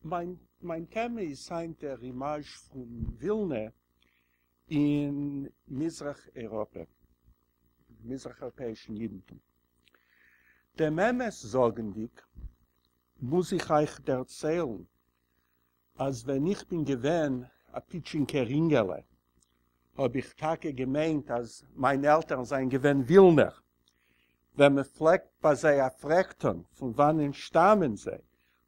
מיין מיין טעמע איז היינט דער אימאזש פון ווילנע אין מזרח אייראפע, מזרח אייראפעאישן אידנטום. דעם אמת זאגנדיג, מוז איך אייך דערציילן אז ווען איך בין געווען א פיטשינקער אינגעלע האב איך טאקע געמיינט אז מיינע עלטערן זענען געווען ווילנער. ווען מען פלעגט ביי זיי א פרעג טאן פון וואנען שטאמען זיי,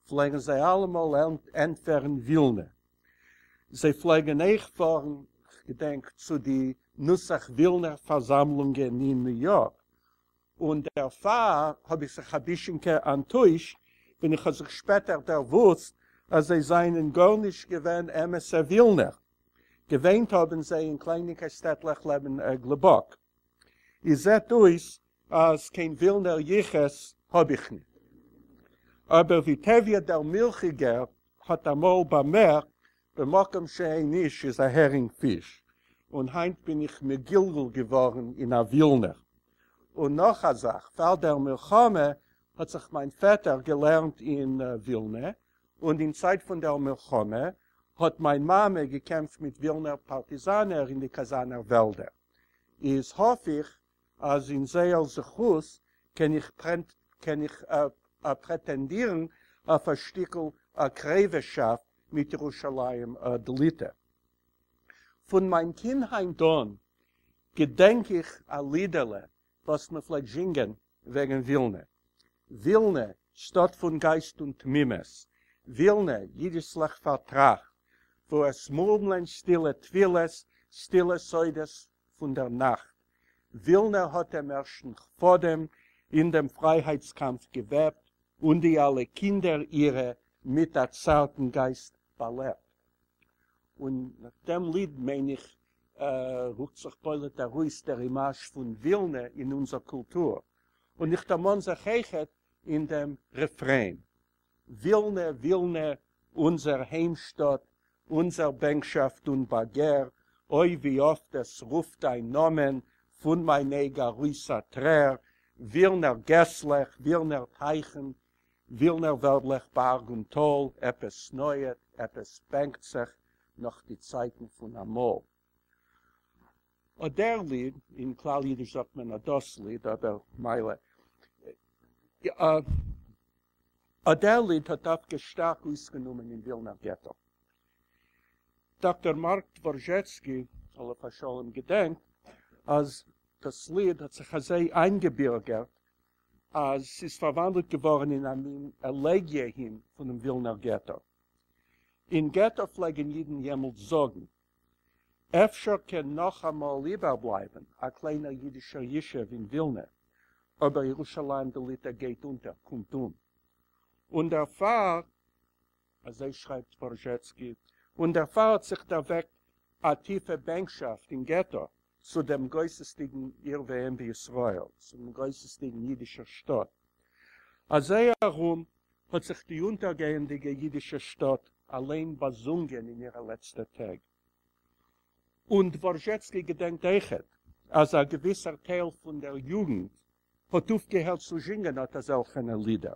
פלעגן זיי אלעמאל ענטפערן ווילנע. זיי פלעגן אויך פארן, כ'געדענק, צו די נוסח ווילנער פארזאמלונגען אין ניו יארק, און דערפאר האב איך זיך א בישינקע אנטוישט ווען איך האב זיך שפעטער דערוואוסט אז זיי זענען גארנישט געווען אמת'ע ווילנער, געוואינט האבן זיי אין קליינינקע שטעטלעך לעבן גלובאק. איז זעט אויס אז קיין ווילנער יחוס האב איך ניט. אבער ווי טביה דער מילכיגער האט אמאל באמערקט, במקום שאין איש איז א הערינג פיש, און היינט בין איך מגולגל געווארן אין א ווילנער. און נאך א זאך, פאר דער מלחמה האט זיך מיין פעטער געלערנט אין ווילנע, און אין צייט פון דער מלחמה האט מיין מאמע געקעמפט מיט ווילנער פארטיזאנער אין די קאזאנער וועלדער. איז האף איך אז אין זייער זכות קען איך קען איך פרעטענדירן אויף א שטיקל קרובהשאפט מיט ירושלים דליטא. פון מיין קינדהייט אן געדענק איך א לידעלע וואס מען פלעגט זינגען וועגן ווילנע. ווילנע, שטאט פון גייסט און תמימות. ווילנע, יידישלעך פארטראכט, וואו עס מורמלען שטילע תפילות, שטילע סודות פון דער נאכט. ווילנע האט דעם ערשטן פאדעם אין דעם פרייהייטס-קאמף געוועבט, און די אלע קינדער אירע מיט א צארטן גייסט באלעבט. און דעם ליד, מיין איך, רוקט זיך בולט ארויס דער אימאזש פון ווילנע אין אונזער קולטור. און איך דערמאן זיך אויכעט אין דעם רעפרעין, ווילנע, ווילנע, אונזער היימשטאט, אונזער בענקשאפט און באגער, אוי ווי אפט עס רופט דיין נאמען פון מיין אויג ארויס א טרער, ווילנער געסלעך, ווילנער טייכן, ווילנער וועלדלעך בארג און טאל, עפעס נויעט, עפעס בענקט זיך נאך די צייטן פון אמאל. אט דער ליד, אין כלל אידיש זאגט מען אט דאס ליד, אבער מילא. אט דער ליד האט דווקא שטארק אויסגענומען אין ווילנער געטא. דאקטאר מארק דווארזשעצקי, עליו השלום, געדענקט אז דאס ליד האט זיך אזוי איינגעבירגערט אז ס'איז פארוואנדלט געווארן אין א מין עלעגיע הים פונעם ווילנער געטא. אין געטא פלעגן אידן יעמאלט זאגן, אפשר קען נאך אמאל איבערבלייבן א קליינער אידישער ישוב אין ווילנע, אבער ירושלים דליטא גייט אונטער, קומט אום. און דערפאר, אזוי שרייבט דווארזשעצקי, און דערפאר האט זיך דערוועקט א טיפע בענקשאפט אין געטא צו דעם גוסס'דיגן עיר ואם בישראל, צו דעם גוסס'דיגן אידישער שטאט. אזוי ארום האט זיך די אונטערגייענדיגע אידישע שטאט אליין באזונגען אין אירע לעצטע טעג. און דווארזשעצקי געדענקט אויכעט אז א געוויסער טייל פון דער יוגנט האט אויפגעהערט צו זינגען אט אזעלכענע לידער.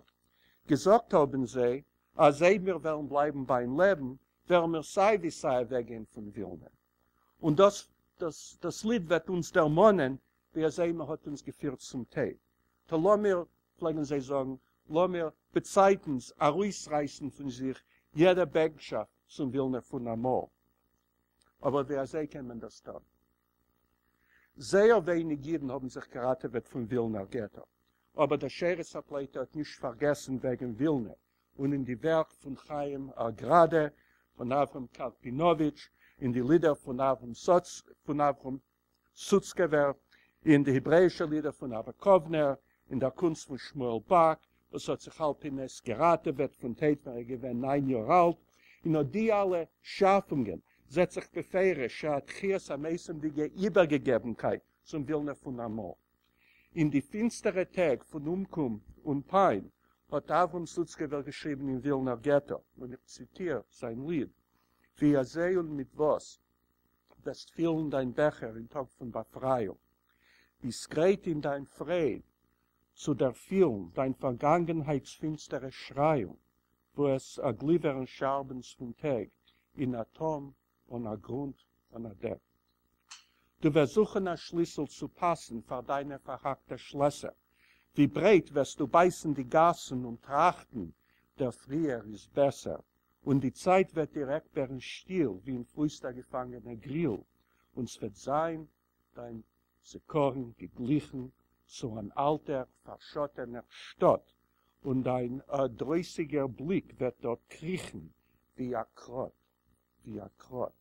געזאגט האבן זיי אז אויב מיר וועלן בלייבן ביים לעבן וועלן מיר סיי ווי סיי אוועקגיין פון ווילנע. און דאס דאס דאס ליד וועט אונז דערמאנען ווי אזוי מען האט אונז געפירט צום טויט. טא לאמיר, פלעגן זיי זאגן, לאמיר בצייטנס ארויסרייסן פון זיך יעדע בענקשאפט צום ווילנע פון אמאל. אבער ווי אזוי קען מען דאס טון? זייער ווייניג אידן האבן זיך געראטעוועט פון ווילנער געטא, אבער דער שארית הפליטה האט נישט פארגעסן וועגן ווילנע, און אין די ווערק פון חיים גראדע, פון אברהם קארפינאוויטש, אין די לידער פון אברהם פון אברהם סוצקעווער, אין די העברעאישע לידער פון אבא קאוונער, אין דער קונסט פון שמואל באק, וואס האט זיך על פי נס געראטעוועט פון טויט ווען ער איז געווען ניין יאר אלט, אין אט די אלע שאפונגען זעט זיך בפירוש א תחיית המתים'דיגע איבערגעגעבנקייט צום ווילנע פון אמאל. אין די פינסטערע טעג פון אומקום און פיין האט אברהם סוצקעווער געשריבן אין ווילנער געטא, און איך ציטיר זיין ליד, ווי אזוי און מיט וואס וועסט פילן דיין בעכער אין טאג פון באפרייאונג, ביסט גרייט אין דיין פרייד צו דערפילן דיין פארגאנגענהייט'ס פינסטערע שרייאונג. וואו עס גליווערן שארבנס פון טעג אין א תהום אן א גרונט אן א דעק. דו וועסט זוכן א שליסל צו פאסן פאר דיינע פארהאקטע שלעסער. ווי ברייט וועסטו בייסן די גאסן און טראכטן, דער פריער איז בעסער. און די צייט וועט דיר עקבערן שטיל ווי אין פויסט א געפאנגענע גריל, און ס'וועט זיין דיין זכרון געגליכן צו אן אלטער פארשאטענער שטאט, און דיין דרויסיגער בליק וועט דארט קריכן ווי א קראט, ווי א קראט.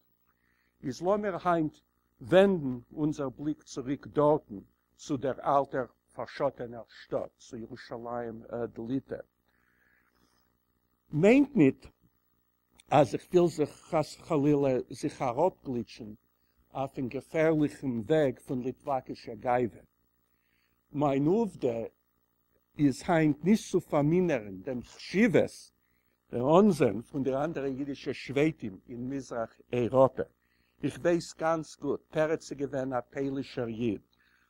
איז לאמיר היינט ווענדן אונזער בליק צוריק דארטן צו דער אלטער פארשאטענער שטאט, צו ירושלים דליטא. מיינט ניט אז איך וויל זיך חס וחלילה זיך אראפגליטשן אויפן געפערליכן וועג פון ליטוואקישע גאווה. מיין עובדה איז היינט נישט צו פארמינערן דעם חשיבות, דער אנזען פון די אנדערע אידישע שבטים אין מזרח אייראפע. איך ווייס גאנץ גוט, פרץ איז געווען א פוילישער איד,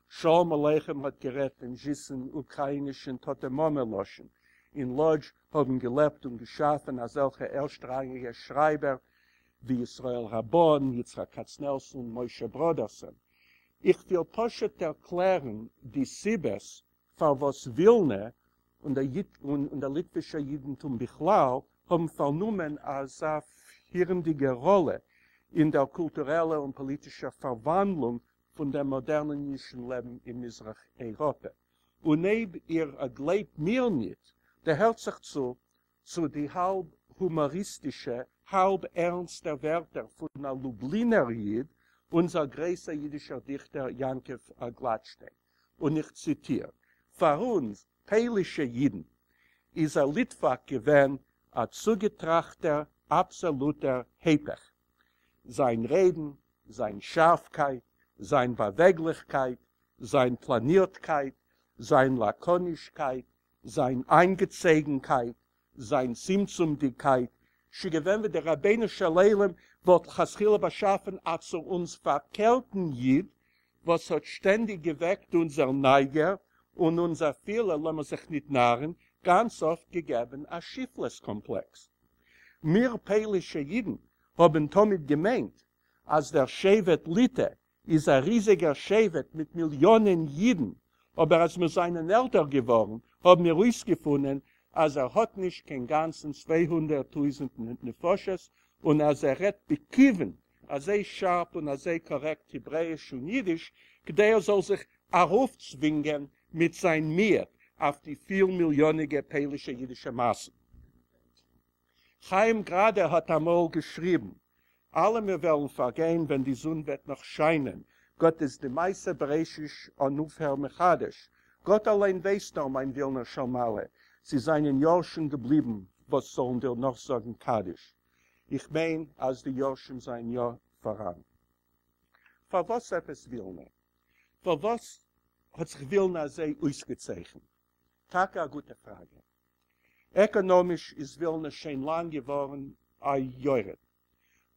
שלום עליכם האט גערעדט דעם זיסן אוקראינישן טאטע-מאמע לשון, אין לאדזש האבן געלעבט און געשאפן אזעלכע ערשטראנגיגע שרייבער ווי ישראל ראבאן, יצחק קאצנעלסאן, משה בראדערסאן. איך וויל פשוט ערקלערן די סיבות פארוואס ווילנע און דער ליטווישער אידנטום בכלל האבן פארנומען אזא פירנדיגע ראלע אין דער קולטורעלער און פאליטישער פארוואנדלונג פון דעם מאדערנען אידישן לעבן אין מזרח אייראפע. און אויב איר גלייבט מיר ניט, דערהערט זיך צו צו די האלב הומאריסטישע, האלב ערנסטע ווערטער פון א לובלינער איד, אונזער גרויסער אידישער דיכטער יעקב גלאטשטיין, און איך ציטיר, פאר אונז, פוילישע אידן, איז א ליטוואק געווען א צוגעטראכטער אבסאלוטער היפך. זיין רעדן, זיין שארפקייט, זיין באוועגליכקייט, זיין פלאנירטקייט, זיין לאקאנישקייט, זיין איינגעצויגנקייט, זיין צמצומ'דיגקייט, ס'איז געווען ווי דער רבונו של עולם וואלט לכתחילה באשאפן א צו אונז פארקערטן איד, וואס האט שטענדיג געוועקט אונזער נייגער און אונז אפילו, לאמיר זיך ניט נארן, גאנץ אפט געגעבן א שפלות קאמפלעקס. מיר פוילישע אידן האבן תמיד געמיינט אז דער שבט ליטע איז א ריזיגער שבט מיט מיליאנען אידן, אבער אז מיר זענען עלטער געווארן האבן מיר אויסגעפונען אז ער האט נישט קיין גאנצן 200 טויזנט נפשות, און אז ער רעדט בכיוון אזוי שארף און אזוי קארעקט העברעאיש און אידיש כדי ער זאל זיך ארויפצווינגען מיט זיין מיעוט אויף די פיל מיליאניגע פוילישע אידישע מאסן. חיים גראדע האט אמאל געשריבן, אלע מיר וועלן פארגיין ווען די זון וועט נאך שיינען, גאט איז די מעשה בראשית אן אויפהער מחדש, גאט אליין ווייסט נאר מיין ווילנא של מעלה, ס'זענען יורשים געבליבן וואס זאלן דיר נאכזאגן קדיש. איך מיין אז די יורשים זענען יא פאראן. פארוואס עפעס ווילנא? פארוואס האט זיך ווילנא אזוי אויסגעצייכנט? טאקע א גוטע פראגע. עקאנאמיש איז ווילנע שוין לאנג געווארן א יורד,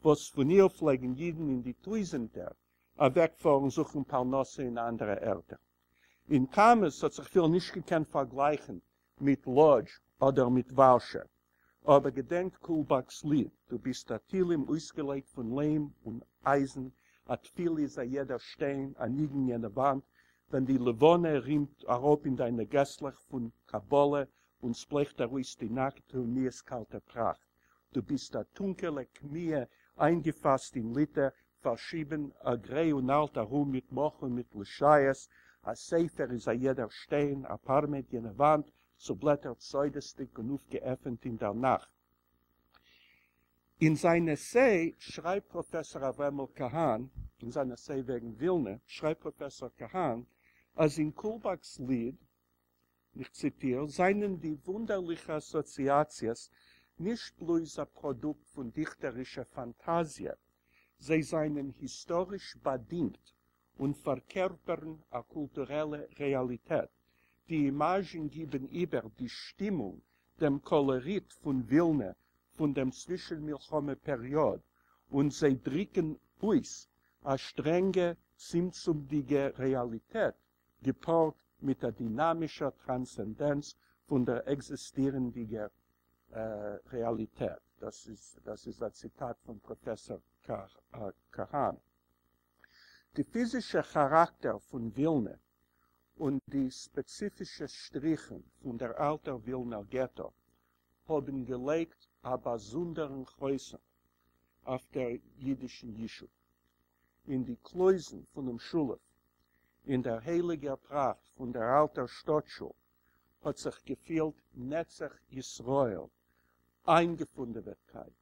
וואס פון איר פלעגן אידן אין די טויזענטער אוועקפארן זוכן פרנסה אין אנדערע ערטער. אין כמות האט זיך ווילנע נישט געקענט פארגלייכן מיט לאדזש אדער מיט ווארשע. אבער געדענקט קולבאק'ס ליד, דו ביסט א תהלים אויסגעלייגט פון ליים און אייזן, א תפילה איז א יעדער שטיין, א ניגון יענע וואנט, ווען די לבנה רינט אראפ אין דיינע געסלעך פון קבלה און ס'בלייכט ארויס די נאקעטע און מיאוס קאלטע פראכט. דו ביסט א טונקעלע קמיע איינגעפאסט אין ליטע, פארשריבן א גריי און אלט ארום מיט מאך און מיט לשייעס, א ספר איז א יעדער שטיין, א פארמעט יענע וואנט, צובלעטערט סודות'דיג און אויפגעעפענט אין דער נאכט. אין זיין עסיי שרייבט פראפעסאר אברעמל קאהאן, אין זיין עסיי וועגן ווילנע, שרייבט פראפעסאר קאהאן, אז אין קולבאק'ס ליד, איך ציטיר, זענען די וואונדערליכע אסאציאציעס נישט בלויז א פראדוקט פון דיכטערישע פאנטאזיע, זיי זענען היסטאריש באדינגט און פארקערפערן א קולטורעלע רעאליטעט. די אימאזשן גיבן איבער די שטימונג, דעם קאלאריט פון ווילנע פון דעם צווישן-מלחמה פעריאד, און זיי דריקן אויס א שטרענגע צמצומ'דיגע רעאליטעט געפארט מיט א דינאמישער טראנסצענדענץ פון דער עקזיסטירנדיגער רעאליטעט. דאס איז דאס איז א ציטאט פון פראפעסאר קאהאן. די פיזישע כאראקטער פון ווילנע און די ספעציפישע שטריכן פון דער אלטער ווילנער געטא האבן געלייגט א באזונדערן חותם אויף דער אידישן ישוב. אין די קלויזן פונעם שולהויף, אין דער הייליגער פראכט פון דער אלטער שטאט-שול, האט זיך געפילט נצח ישראל, איינגעפונדעוועטקייט,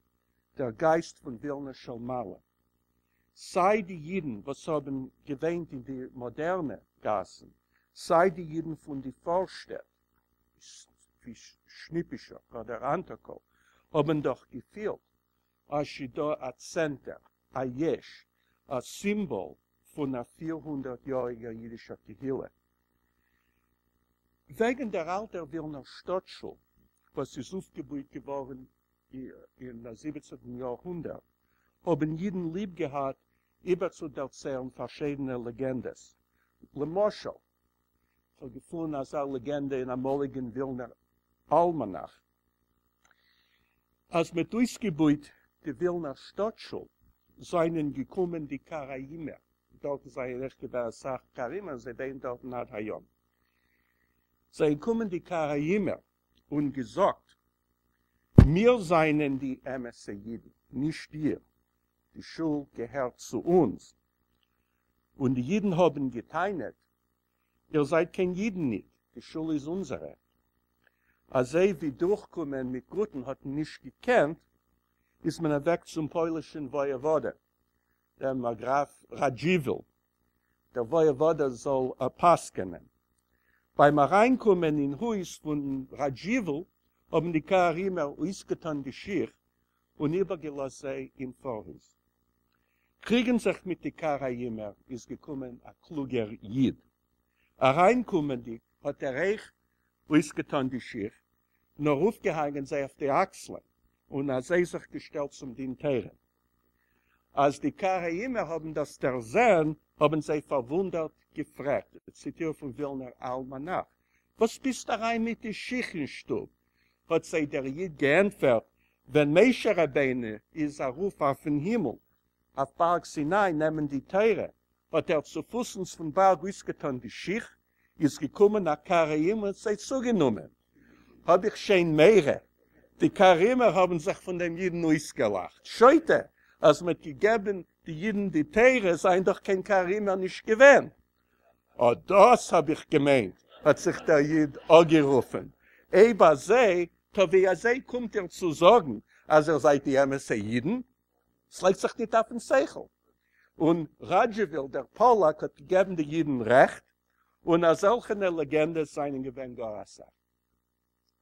דער גייסט פון ווילנע של מעלה. סיי די אידן וואס האבן געוואינט אין די מאדערנע גאסן, סיי די אידן פון די פארשטעט, ווי שניפישאק אדער אנטאקאל, האבן דאך געפילט אז ס'דא א צענטער, א יש, א סימבאל פון א 400 יאריגער אידישער קהילה. וועגן דער אלטער ווילנער שטאט-שול, וואס איז אויפגעבויט געווארן אין זיבעצנטן יארהונדערט, האבן אידן ליב געהאט איבערצודערציילן פארשידענע לעגענדעס. למשל, כ'האב געפונען אזא לעגענדע אין אמאליגן ווילנער אלמאנאך, אז מ'האט אויסגעבויט די ווילנער שטאט-שול, זיינען געקומען די קאראימער, דארטן זיינען אויך געווען אסאך קאראימער, זיי וואינען דארטן עד היום, זיינען געקומען די קאראימער און געזאגט, מיר זיינען די אמת'ע אידן, נישט איר, די שול געהערט צו אונז. און די אידן האבן גע'טענה'ט, איר זייט קיין אידן ניט, די שול איז אונזערע. אזוי ווי דורכקומען מיט גוטן האט מען נישט געקענט, איז מען אוועק צום פוילישן וואיעוואדע, דעם גראף ראדזשיוויל, דער וואיעוואדע זאל פסק'ענען. ביים אריינקומען אין הויז פון ראדזשיוויל האבן די קאראימער אויסגעטאן די שיך און איבערגעלאזט זיי אין פארהויז. קריגן זיך מיט די קאראימער איז געקומען א קלוגער איד. אריינקומענדיג האט ער אויך אויסגעטאן די שיך, נאר אויפגעהאנגען זיי אויף די אקסלען און אזוי זיך געשטעלט צום דין תורה. אז די קאראימער האבן דאס דערזען, האבן זיי פארוואונדערט געפרעגט, ציטיר פון ווילנער אלמאנאך, וואס ביסט אריין מיט די שיך אין שטוב? האט זיי דער איד געענטפערט, ווען משה רבינו איז ארויף אויפן הימל, אויף בארג סיני נעמען די תורה, האט ער צופוסנס פון בארג אויסגעטאן די שיך, איז געקומען א קאראים און האט זיי צוגענומען. האב איך שוין מורא. די קאראימער האבן זיך פון דעם אידן אויסגעלאכט. שוטה, אז מ'האט געגעבן די אידן די תורה זענען דאך קיין קאראימער נישט געווען. אט דאס האב איך געמיינט, האט זיך דער איד אפגערופן, אויב אזוי, טא ווי אזוי קומט איר צו זאגן אז איר זייט די אמת'ע אידן? ס'לייגט זיך ניט אויפן שכל. און ראדזשיוויל דער פאלאק האט געגעבן די אידן רעכט, און אזעלכענע לעגענדעס זיינען געווען גאר אסאך.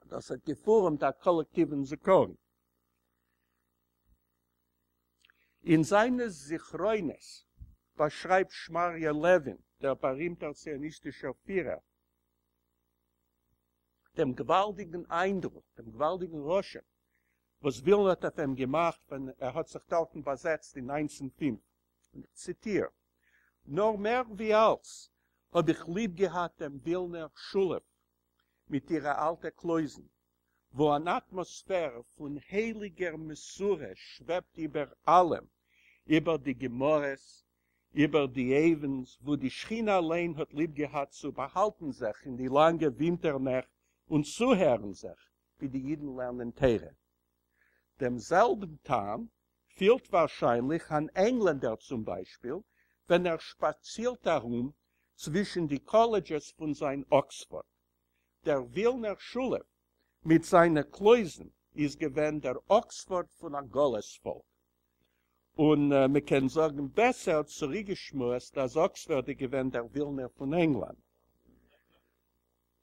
דאס האט געפורעמט א קאלעקטיוון זכרון. אין זיינע זכרונות באשרייבט שמריה לעווין, דער בארימטער ציוניסטישער פירער, דעם געוואלדיגן איינדרוק, דעם געוואלדיגן רושם, וואס ווילנע האט אויף אים געמאכט ווען ער האט זיך דארטן באזעצט אין 1905, און איך ציטיר, נאר מער ווי אלץ האב איך ליב געהאט דעם ווילנער שולהויף מיט אירע אלטע קלויזן, וואו אן אטמאספער פון הייליגער מסורה שוועבט איבער אלעם, איבער די גמרות, איבער די אויוונס, וואו די שכינה אליין האט ליב געהאט צו באהאלטן זיך אין די לאנגע ווינטער נעכט און צוהערן זיך ווי די אידן לערנען תורה. דעם זעלבן טעם פילט ווארשיינליך אן ענגלענדער צום ביישפיל ווען ער שפאצירט ארום צווישן די קאלעדזשעס פון זיין אקספארד. דער ווילנער שולהויף מיט זיינע קלויזן איז געווען דער אקספארד פון א גלות פאלק. און מ'קען זאגן בעסער צוריקגעשמועסט אז אקספארד איז געווען דער ווילנער פון ענגלאנד.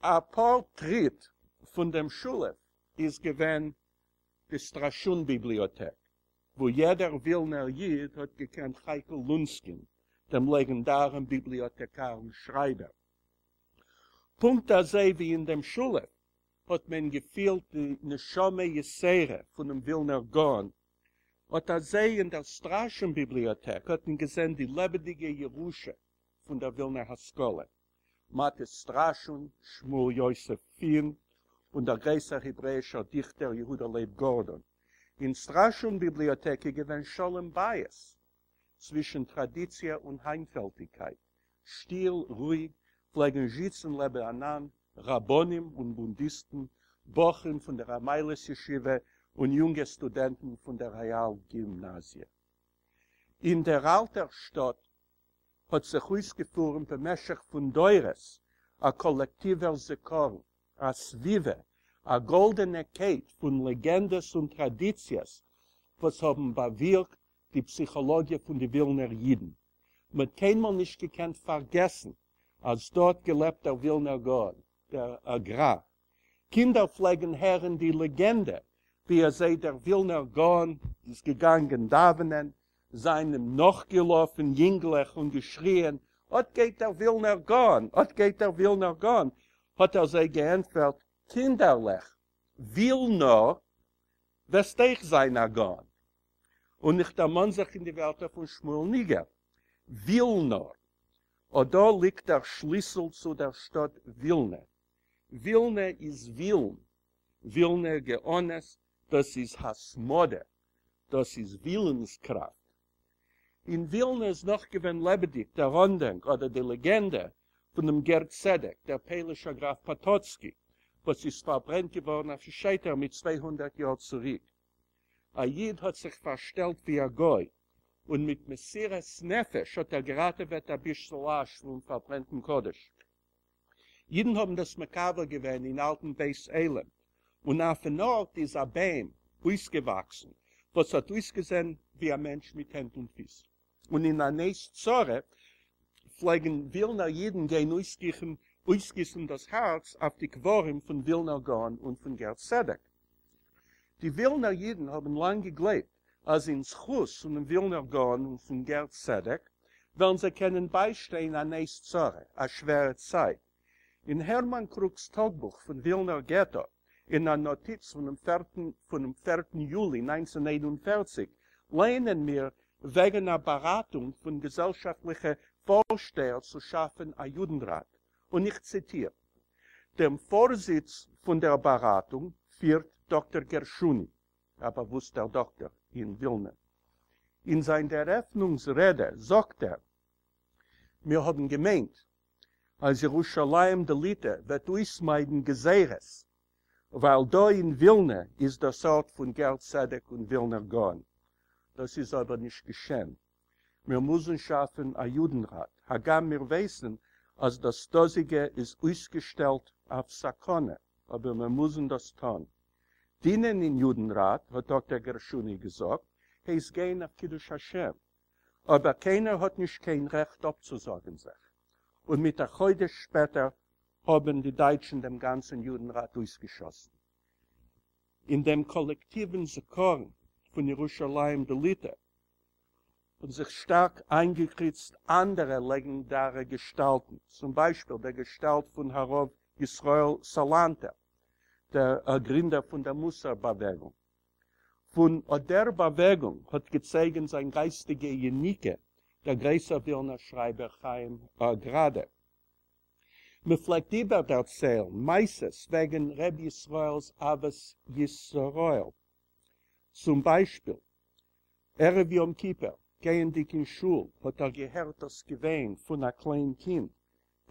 א פאר טריט פון דעם שולהויף איז געווען די סטראשון ביבליאטעק, וואו יעדער ווילנער איד האט געקענט חייקל לונסקין, דעם לעגענדארן ביבליאטעקאר און שרייבער. פונקט אזוי ווי אין דעם שולהויף האט מען געפילט די נשמה יתירה פונעם ווילנער גאון, אט אזוי אין דער סטראשון ביבליאטעק האט מען געזען די לעבעדיגע ירושה פון דער ווילנער השכלה. מאטיס סטראשון, שמואל יוסף פין, און דער גרויסער העברעישער דיכטער יהודה לייב גארדאן. אין סטראשון ביבליאטעק איז געווען שלום בית צווישן טראדיציע און היינטוועלטיגקייט. שטיל, רואיג, פלעגן זיצן לעבענאנד רבנים און בונדיסטן, בחורים פון דער המיילעס ישיבה און יונגע סטודענטן פון דער רעאל גימנאזיע. אין דער אלטער שטאט האט זיך אויסגעפורעמט במשך פון דורות א קאלעקטיווער זכרון, א סביבה, א גאלדענע קייט פון לעגענדעס און טראדיציעס וואס האבן באווירקט די פסיכאלאגיע פון די ווילנער אידן. מ'האט קיינמאל נישט געקענט פארגעסן אז דא האט געלעבט דער ווילנער גאון, דער גר"א. קינדער פלעגן הערן די לעגענדע ווי אזוי דער ווילנער גאון איז געגאנגען דאווענען, זיינען נאכגעלאפן יונגלעך און געשריען, אט גייט דער ווילנער גאון! אט גייט דער ווילנער גאון! האט ער זיי געענטפערט, קינדערלעך, וויל נאר, וועסט אויך זיין א גאון! און איך דערמאן זיך אין די ווערטער פון שמואל ניגער, וויל נאר! אט דא ליגט דער שליסל צו דער שטאט ווילנע. ווילנע איז ווילן, ווילנער גאונות, דאס איז התמדה, דאס איז ווילנס-קראפט. אין ווילנע איז נאך געווען לעבעדיג דער אנדענק אדער די לעגענדע פון דעם גר צדק, דער פוילישער גראף פאטאצקי, וואס איז פארברענט געווארן אויפן שייטער מיט 200 יאר צוריק. א איד האט זיך פארשטעלט ווי א גוי, און מיט מסירת נפש האט ער געראטעוועט א ביסל אש פון פארברענטן קדוש. אידן האבן דאס מקבר געווען אין אלטן בית עולם, און אויפן ארט איז א ביים אויסגעוואקסן וואס האט אויסגעזען ווי א מענטש מיט הענט און פיס. און אין אן עת צרה פלעגן ווילנער אידן גיין אויסגיסן דאס הארץ אויף די קברים פון ווילנער גאון און פון גר צדק. די ווילנער אידן האבן לאנג געגלייבט אז אין זכות פונעם ווילנער גאון און פון גר צדק וועלן זיי קענען ביישטיין אן עת צרה, א שווערע צייט. אין הערמאן קרוק'ס טאגבוך פון ווילנער געטא, אין א נאטיץ פונעם פערטן יולי 1941, לייענען מיר וועגן א באראטונג פון געזעלשאפטליכע פארשטייער צו שאפן א יודנראט, און איך ציטיר, דעם פארזיץ פון דער באראטונג פירט דאקטער גערשוני, א באוואוסטער דאקטער אין ווילנע. אין זיין דערעפנונגס רעדע זאגט ער, מיר האבן געמיינט אז ירושלים דליטא וועט אויסמיידן גזירות, ווייל דא אין ווילנע איז דאס ארט פון גר צדק און ווילנער גאון. דאס איז אבער נישט געשען. מיר מוזן שאפן א יודנראט, הגם מיר ווייסן אז דאס דאזיגע איז אויסגעשטעלט אויף סכנה, אבער מיר מוזן דאס טאן. דינען אין יודנראט, האט דאקטער גערשוני געזאגט, הייסט גיין אויף קידוש השם. אבער קיינער האט נישט קיין רעכט אפצוזאגן זיך. און מיט א חודש שפעטער האבן די דייטשן דעם גאנצן יודנראט אויסגעשאסן. אין דעם קאלעקטיוון זכרון פון ירושלים דליטא האבן זיך שטארק איינגעקריצט אנדערע לעגענדארע געשטאלטן, צום ביישפיל דער געשטאלט פון הרב ישראל סאלאנטער, דער גרינדער פון דער מוסר באוועגונג. פון אט דער באוועגונג האט געצויגן זיין גייסטיגע יניקה דער גרויסער ווילנער שרייבער חיים גראדע. מען פלעגט איבערדערציילן מעשות וועגן ר' ישראל'ס אהבת ישראל. צום ביישפיל, ערב יום כיפור, גייענדיג אין שול, האט ער געהערט דאס געוויין פון א קליין קינד.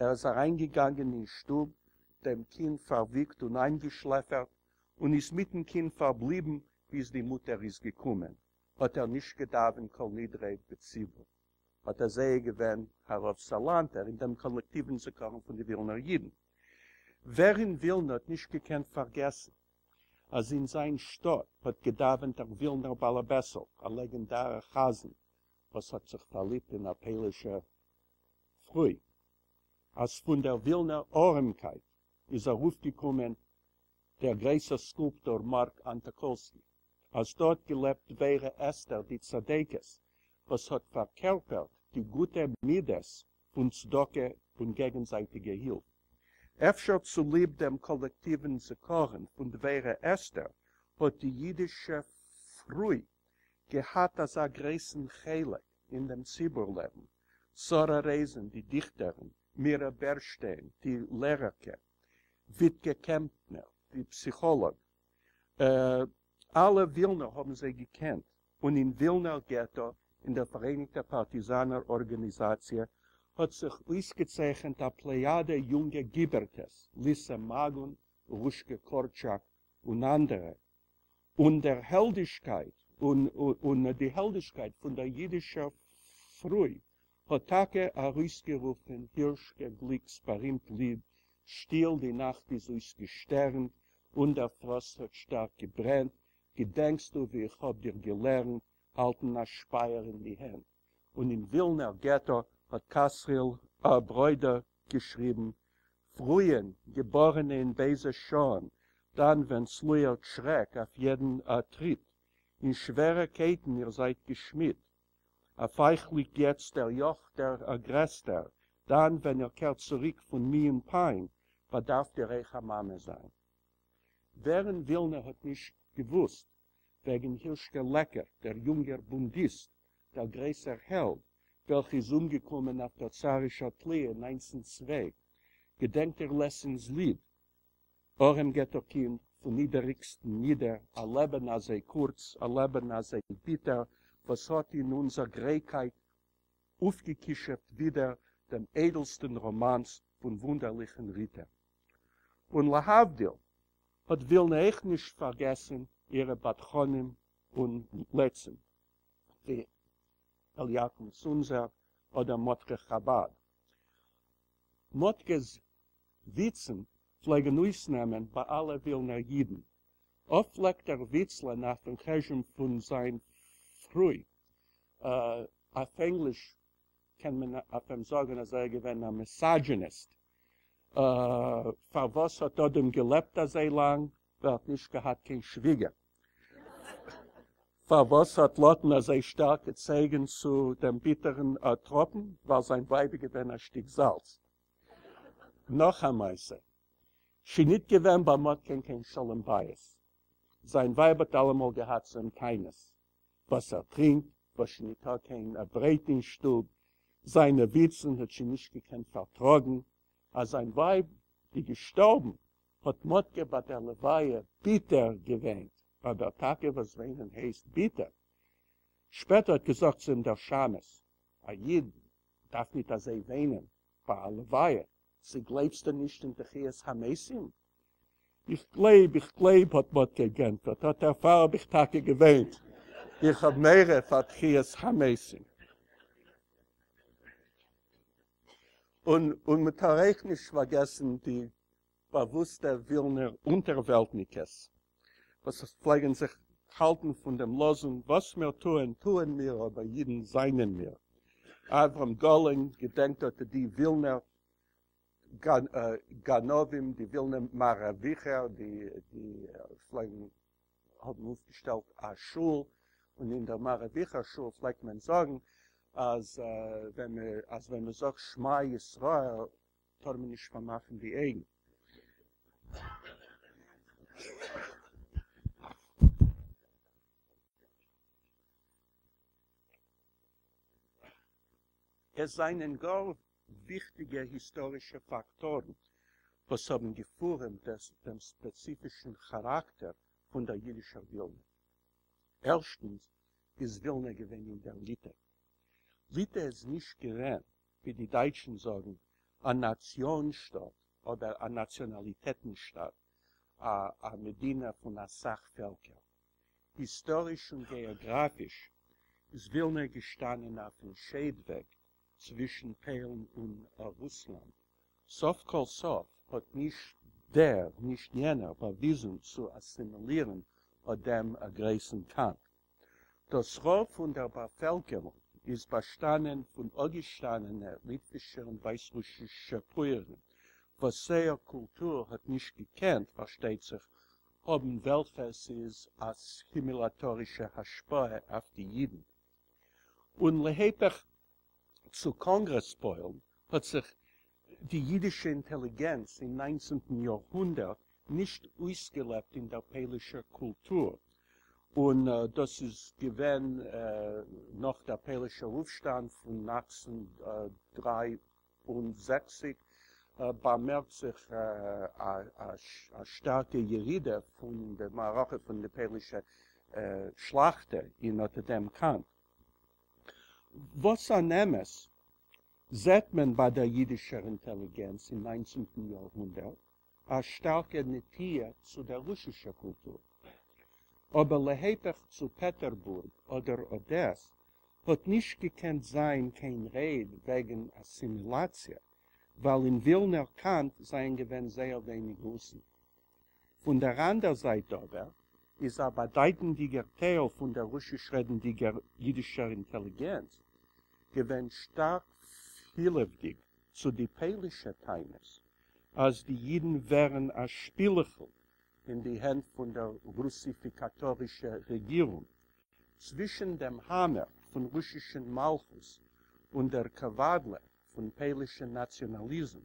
ער איז אריינגעגאנגען אין שטוב, דעם קינד פארוויגט און איינגעשלעפערט, און איז מיטן קינד פארבליבן ביז די מוטער איז געקומען. האט ער נישט געדאווענט כל נדרי בציבור. אט אזוי איז געווען הרב סאלאנטער אין דעם קאלעקטיוון זכרון פון די ווילנער אידן. ווער אין ווילנע האט נישט געקענט פארגעסן אז אין זיין שטאט האט געדאווענט דער ווילנער בעל הבעסל, א לעגענדארער חזן וואס האט זיך פארליבט אין א פוילישער פרוי, אז פון דער ווילנער ארעמקייט איז ארויפגעקומען דער גרויסער סקולפטאר מארק אנטאקאלסקי, אז דא האט געלעבט דבורה אסתר די צדקת, וואס האט פארקערפערט די גוטע מידות פון צדקה און געגנזייטיגע הילף. אפשר צוליב דעם קאלעקטיוון זכרון פון דבורה אסתר האט די אידישע פרוי געהאט אזא גרויסן חלק אין דעם ציבור לעבן, שרה רייזען די דיכטערין, מירא בערשטיין די לערערקע, וויטקע קעמפנער. די פסיכאלאג. אלע ווילנער האבן זיי געקענט, און אין ווילנער געטא, אין דער פאראייניגטער פארטיזאנער ארגאניזאציע, האט זיך אויסגעצייכנט א פלעיאדע יונגע גיבערטעס, ליסע מאגון, רושקע קארטשאק און אנדערע, און דער העלדישקייט און די העלדישקייט פון דער יידישער פרוי האט טאקע ארויסגערופן הירשקע גליק'ס בארימט ליד שטיל די נאכט איז אויסגעשטערנט און דער פראסט האט שטארק געברענט, געדענקסטו ווי איך האב דיר געלערנט האלטן א שפייער אין די הענט? און אין ווילנער געטא האט כתריאל ברוידא געשריבן, פֿרויען, געבאָרענע אין בייזע שעהן, דאַן ווען ס'לויערט שרעק אויף יעדן טריט, אין שווערע קייטן איר זייט געשמידט. אויף אייך ליגט יעצט דער יאָך דער גרעסטער, דאַן ווען איר קערט צוריק פֿון מי און פּיין, באַדאַרפֿט איר אויך אַ מאַמע זיין. ווער אין ווילנע האָט נישט געוווּסט וועגן הירשקע לעקערט, דער יונגער בונדיסט, דער גרויסער העלד, וועלכער איז אומגעקומען אויף דער צאַרישער תליה אין נײַנצן צוויי, געדענקט איר לעסינס ליד, אָרעם געטאָ-קינד פֿון נידעריקסטן נידער, אַ לעבן אַזוי קורץ, אַ לעבן אַזוי ביטער, וואָס האָט אין אונדזער גרייקייט אויפֿגעכּישופֿט ווידער דעם איידלסטן ראָמאַנס פֿון וווּנדערלעכן ריטער. און להבֿדיל, האָט ווילנע אויך נישט פֿאַרגעסן אירע בדחנים און לצים. ווי אליקים צונזער אדער מאטקע חבד. מאטקע'ס וויצן פלעגן אויסנעמען ביי אלע ווילנער אידן. אפט פלעגט ער וויצלען אויפן חשבון פון זיין פרוי. אויף ענגליש קען מען אויף אים זאגן אז ער איז געווען א מיסאדזשיניסט. פארוואס האט אדם געלעבט אזוי לאנג? ווייל ער האט נישט געהאט קיין שוויגער. פארוואס האט לוטן אזוי שטארק געצויגן צו דעם ביטערן טראפן? ווייל זיין ווייב איז געווען א שטיק זאלץ. נאך א מעשה. שוין ניט געווען ביי מאטקע'ן קיין שלום בית. זיין ווייב האט אלעמאל געהאט צו אים טענות. וואס ער טרינקט, וואס שוין ניטא קיין ברויט אין שטוב. זיינע וויצן האט זי נישט געקענט פארטראגן. אז זיין ווייב איז געשטארבן, האט מאטקע ביי דער לוויה ביטער געוויינט, אבער טאקע וואס וויינען הייסט ביטער. שפעטער האט געזאגט צו אים דער שמש, א איד דארף ניט אזוי וויינען ביי א לוויה, צי גלייבסטו נישט אין תחיית המתים? איך גלייב, איך גלייב, האט מאטקע געענטפערט, אט דערפאר האב איך טאקע געוויינט, איך האב מורא פאר תחיית המתים. און און מ'טאר אויך נישט פארגעסן די באוואוסטע ווילנער אונטערוועלטניקעס וואס פלעגן זיך האלטן פון דעם לאזונג וואס מיר טוען טוען מיר אבער אידן זיינען מיר. אברהם גאלין געדענקט אט די ווילנער גנבים, די ווילנער מאראוויכער, די פלעגן האבן אויפגעשטעלט א שול, און אין דער מאראוויכער שול פלעגט מען זאגן אז ווען מען אז ווען מען זאגט שמע ישראל טאר מען נישט פארמאכן די אויגן. עס זענען גאר וויכטיגע היסטארישע פאקטארן וואס האבן געפורעמט דעם ספעציפישן כאראקטער פון דער יידישער ווילנע. ערשטנס איז ווילנע געווען אין דער ליטע. ליטע איז נישט געווען, ווי די דייטשן זאגן, א נאציאן-שטאט אדער א נאציאנאליטעטן-שטאט, א מדינה פון א סך פעלקער. היסטאריש און געאגראפיש איז ווילנע געשטאנען אויפן שיידוועג צווישן פוילן און רוסלאנד. סוף כל סוף האט נישט דער נישט יענער באוויזן צו אסימילירן אט דעם גרויסן קאנט. דאס רוב פון דער באפעלקערונג איז באשטאנען פון אפגעשטאנענע ליטווישע און ווייסרוסישע פויערים, וואס זייער קולטור האט נישט געקענט, פארשטייט זיך, האבן וועלכע ס'איז אסימילאטארישע השפעה אויף די אידן. און להיפך צו קאנגרעס פוילן האט זיך די אידישע אינטעליגענץ אין ניינצנטן יארהונדערט נישט אויסגעלעבט אין דער פוילישער קולטור, און דאס איז געווען נאך דער פוילישער אויפשטאנד פון אַכצן דרײַ און זעכציק. באמערקט זיך א שטארקע ירידה פון די מערכה פון די פוילישע שלאכטע אין אט דעם קאנט. וואס אן אמת זעט מען ביי דער אידישער אינטעליגענץ אין ניינצנטן יארהונדערט א שטארקע נטיה צו דער רוסישער קולטור. אבער להיפך צו פעטערבורג אדער אדעס האט נישט געקענט זיין קיין רייד וועגן אסימילאציע, ווייל אין ווילנער קאנט זענען געווען זייער ווייניג רוסן. פון דער אנדער זייט אבער איז א באדייטנדיגער טייל פון דער רוסיש-רעדנדיגער אידישער אינטעליגענץ געווען שטארק פילעוודיג צו די פוילישע טענות אז די אידן ווערן א שפילעכל אין די הענט פון דער רוסיפיקאטארישע רעגירונג. צווישן דעם האמער פון רוסישן מלכות און דער קעוואדלע פון פוילישן נאציאנאליזם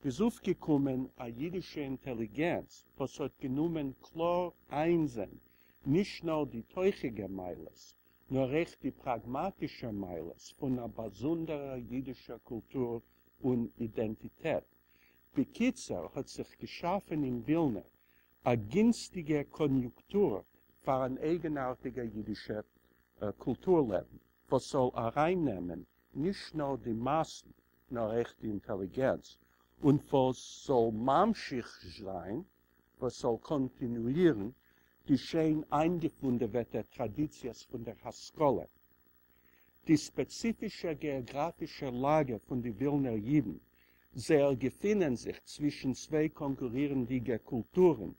איז אויפגעקומען א אידישע אינטעליגענץ וואס האט גענומען קלאר איינזען נישט נאר די תוכיגע מעלות נאר אויך די פראגמאטישע מעלות פון א באזונדערער אידישער קולטור און אידענטיטעט. בקיצור האט זיך געשאפן אין ווילנע א גינסטיגע קאניוקטור פאר אן אייגנארטיגע אידישע קולטור לעבן וואס זאל ארייננעמען נישט נאר די מאסן נאר אויך די אינטעליגענץ, און וואס זאל ממשיך זיין, וואס זאל קאנטינואירן די שיין איינגעפונדעוועטע טראדיציעס פון דער השכלה. די ספעציפישע געאגראפישע לאגע פון די ווילנער אידן, זייער געפינען זיך צווישן צוויי קאנקורירנדיגע קולטורן,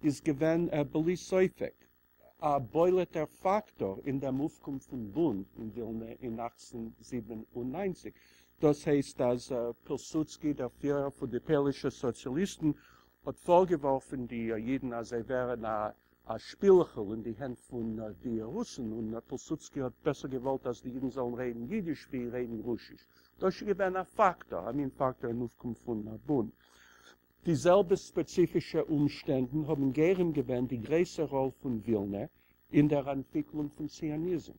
איז געווען בלי ספק א בולט'ער פאקטאר אין דעם אויפקום פון בונד אין ווילנע אין 1897. דאס הייסט אז פילסודסקי, דער פירער פון די פוילישע סאציאליסטן, האט פארגעווארפן די אידן אז זיי ווערן א שפילעכל אין די הענט פון די רוסן, און פילסודסקי האט בעסער געוואלט אז די אידן זאלן רעדן אידיש ווי רעדן רוסיש. דאס איז געווען א פאקטאר, א מין פאקטאר אין אויפקום פון בונד. די זעלבע ספעציפישע אומשטענדן האבן גורם געווען די גרויסע ראל פון ווילנע אין דער אנטוויקלונג פון ציוניזם,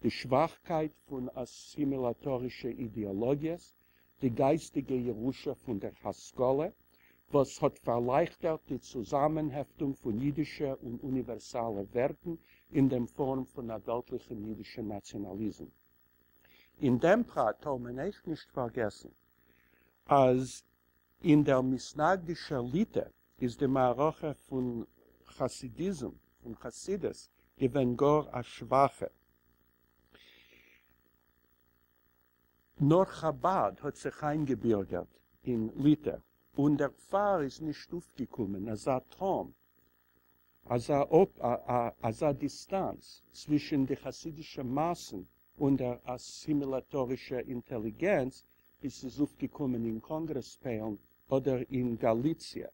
די שוואכקייט פון אסימילאטארישע אידעאלאגיעס, די גייסטיגע ירושה פון דער השכלה, וואס האט פארלייכטערט די צוזאמענהעפטונג פון אידישע און אוניווערסאלע ווערטן אין דעם פארם פון א וועלטליכן אידישן נאציאנאליזם. אין דעם פרט טאר מען אויך נישט פארגעסן אז אין דער מתנגדישער ליטע איז די מערכה פון חסידיזם, פון חסידות, געווען גאר א שוואכע. נאר חבד האט זיך איינגעבירגערט אין ליטע, און דערפאר איז נישט אויפגעקומען אזא תהום, אזא אזא דיסטאנץ צווישן די חסידישע מאסן און דער אסימילאטארישע אינטעליגענץ ווי ס'איז אויפגעקומען אין קאנגרעס פוילן אדער אין גאליציע.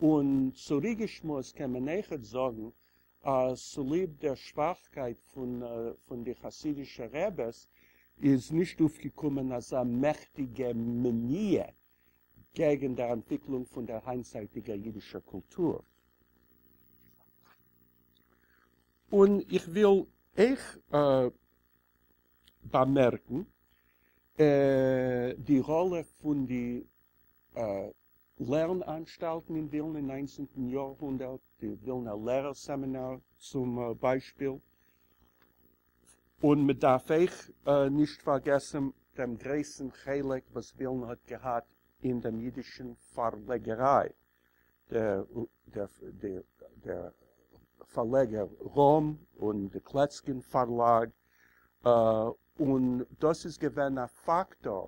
און צוריקגעשמועסט קען מען אויכעט זאגן אז צוליב דער שוואכקייט פון די חסידישע רעבעס איז נישט אויפגעקומען אזא מעכטיגע מניעה געגן דער אנטוויקלונג פון דער היינטצייטיגער אידישער קולטור. און איך וויל אויך באמערקן די ראלע פון די לערן-אנשטאלטן אין ווילנע אין ניינצנטן יארהונדערט, די ווילנער לערער סעמינאר צום ביישפיל, און מען דארף אויך נישט פארגעסן דעם גרויסן חלק וואס ווילנע האט געהאט אין דעם אידישן פארלעגעריי, דער פארלעגער ראם און די קלעצקין פארלאג, און דאס איז געווען א פאקטאר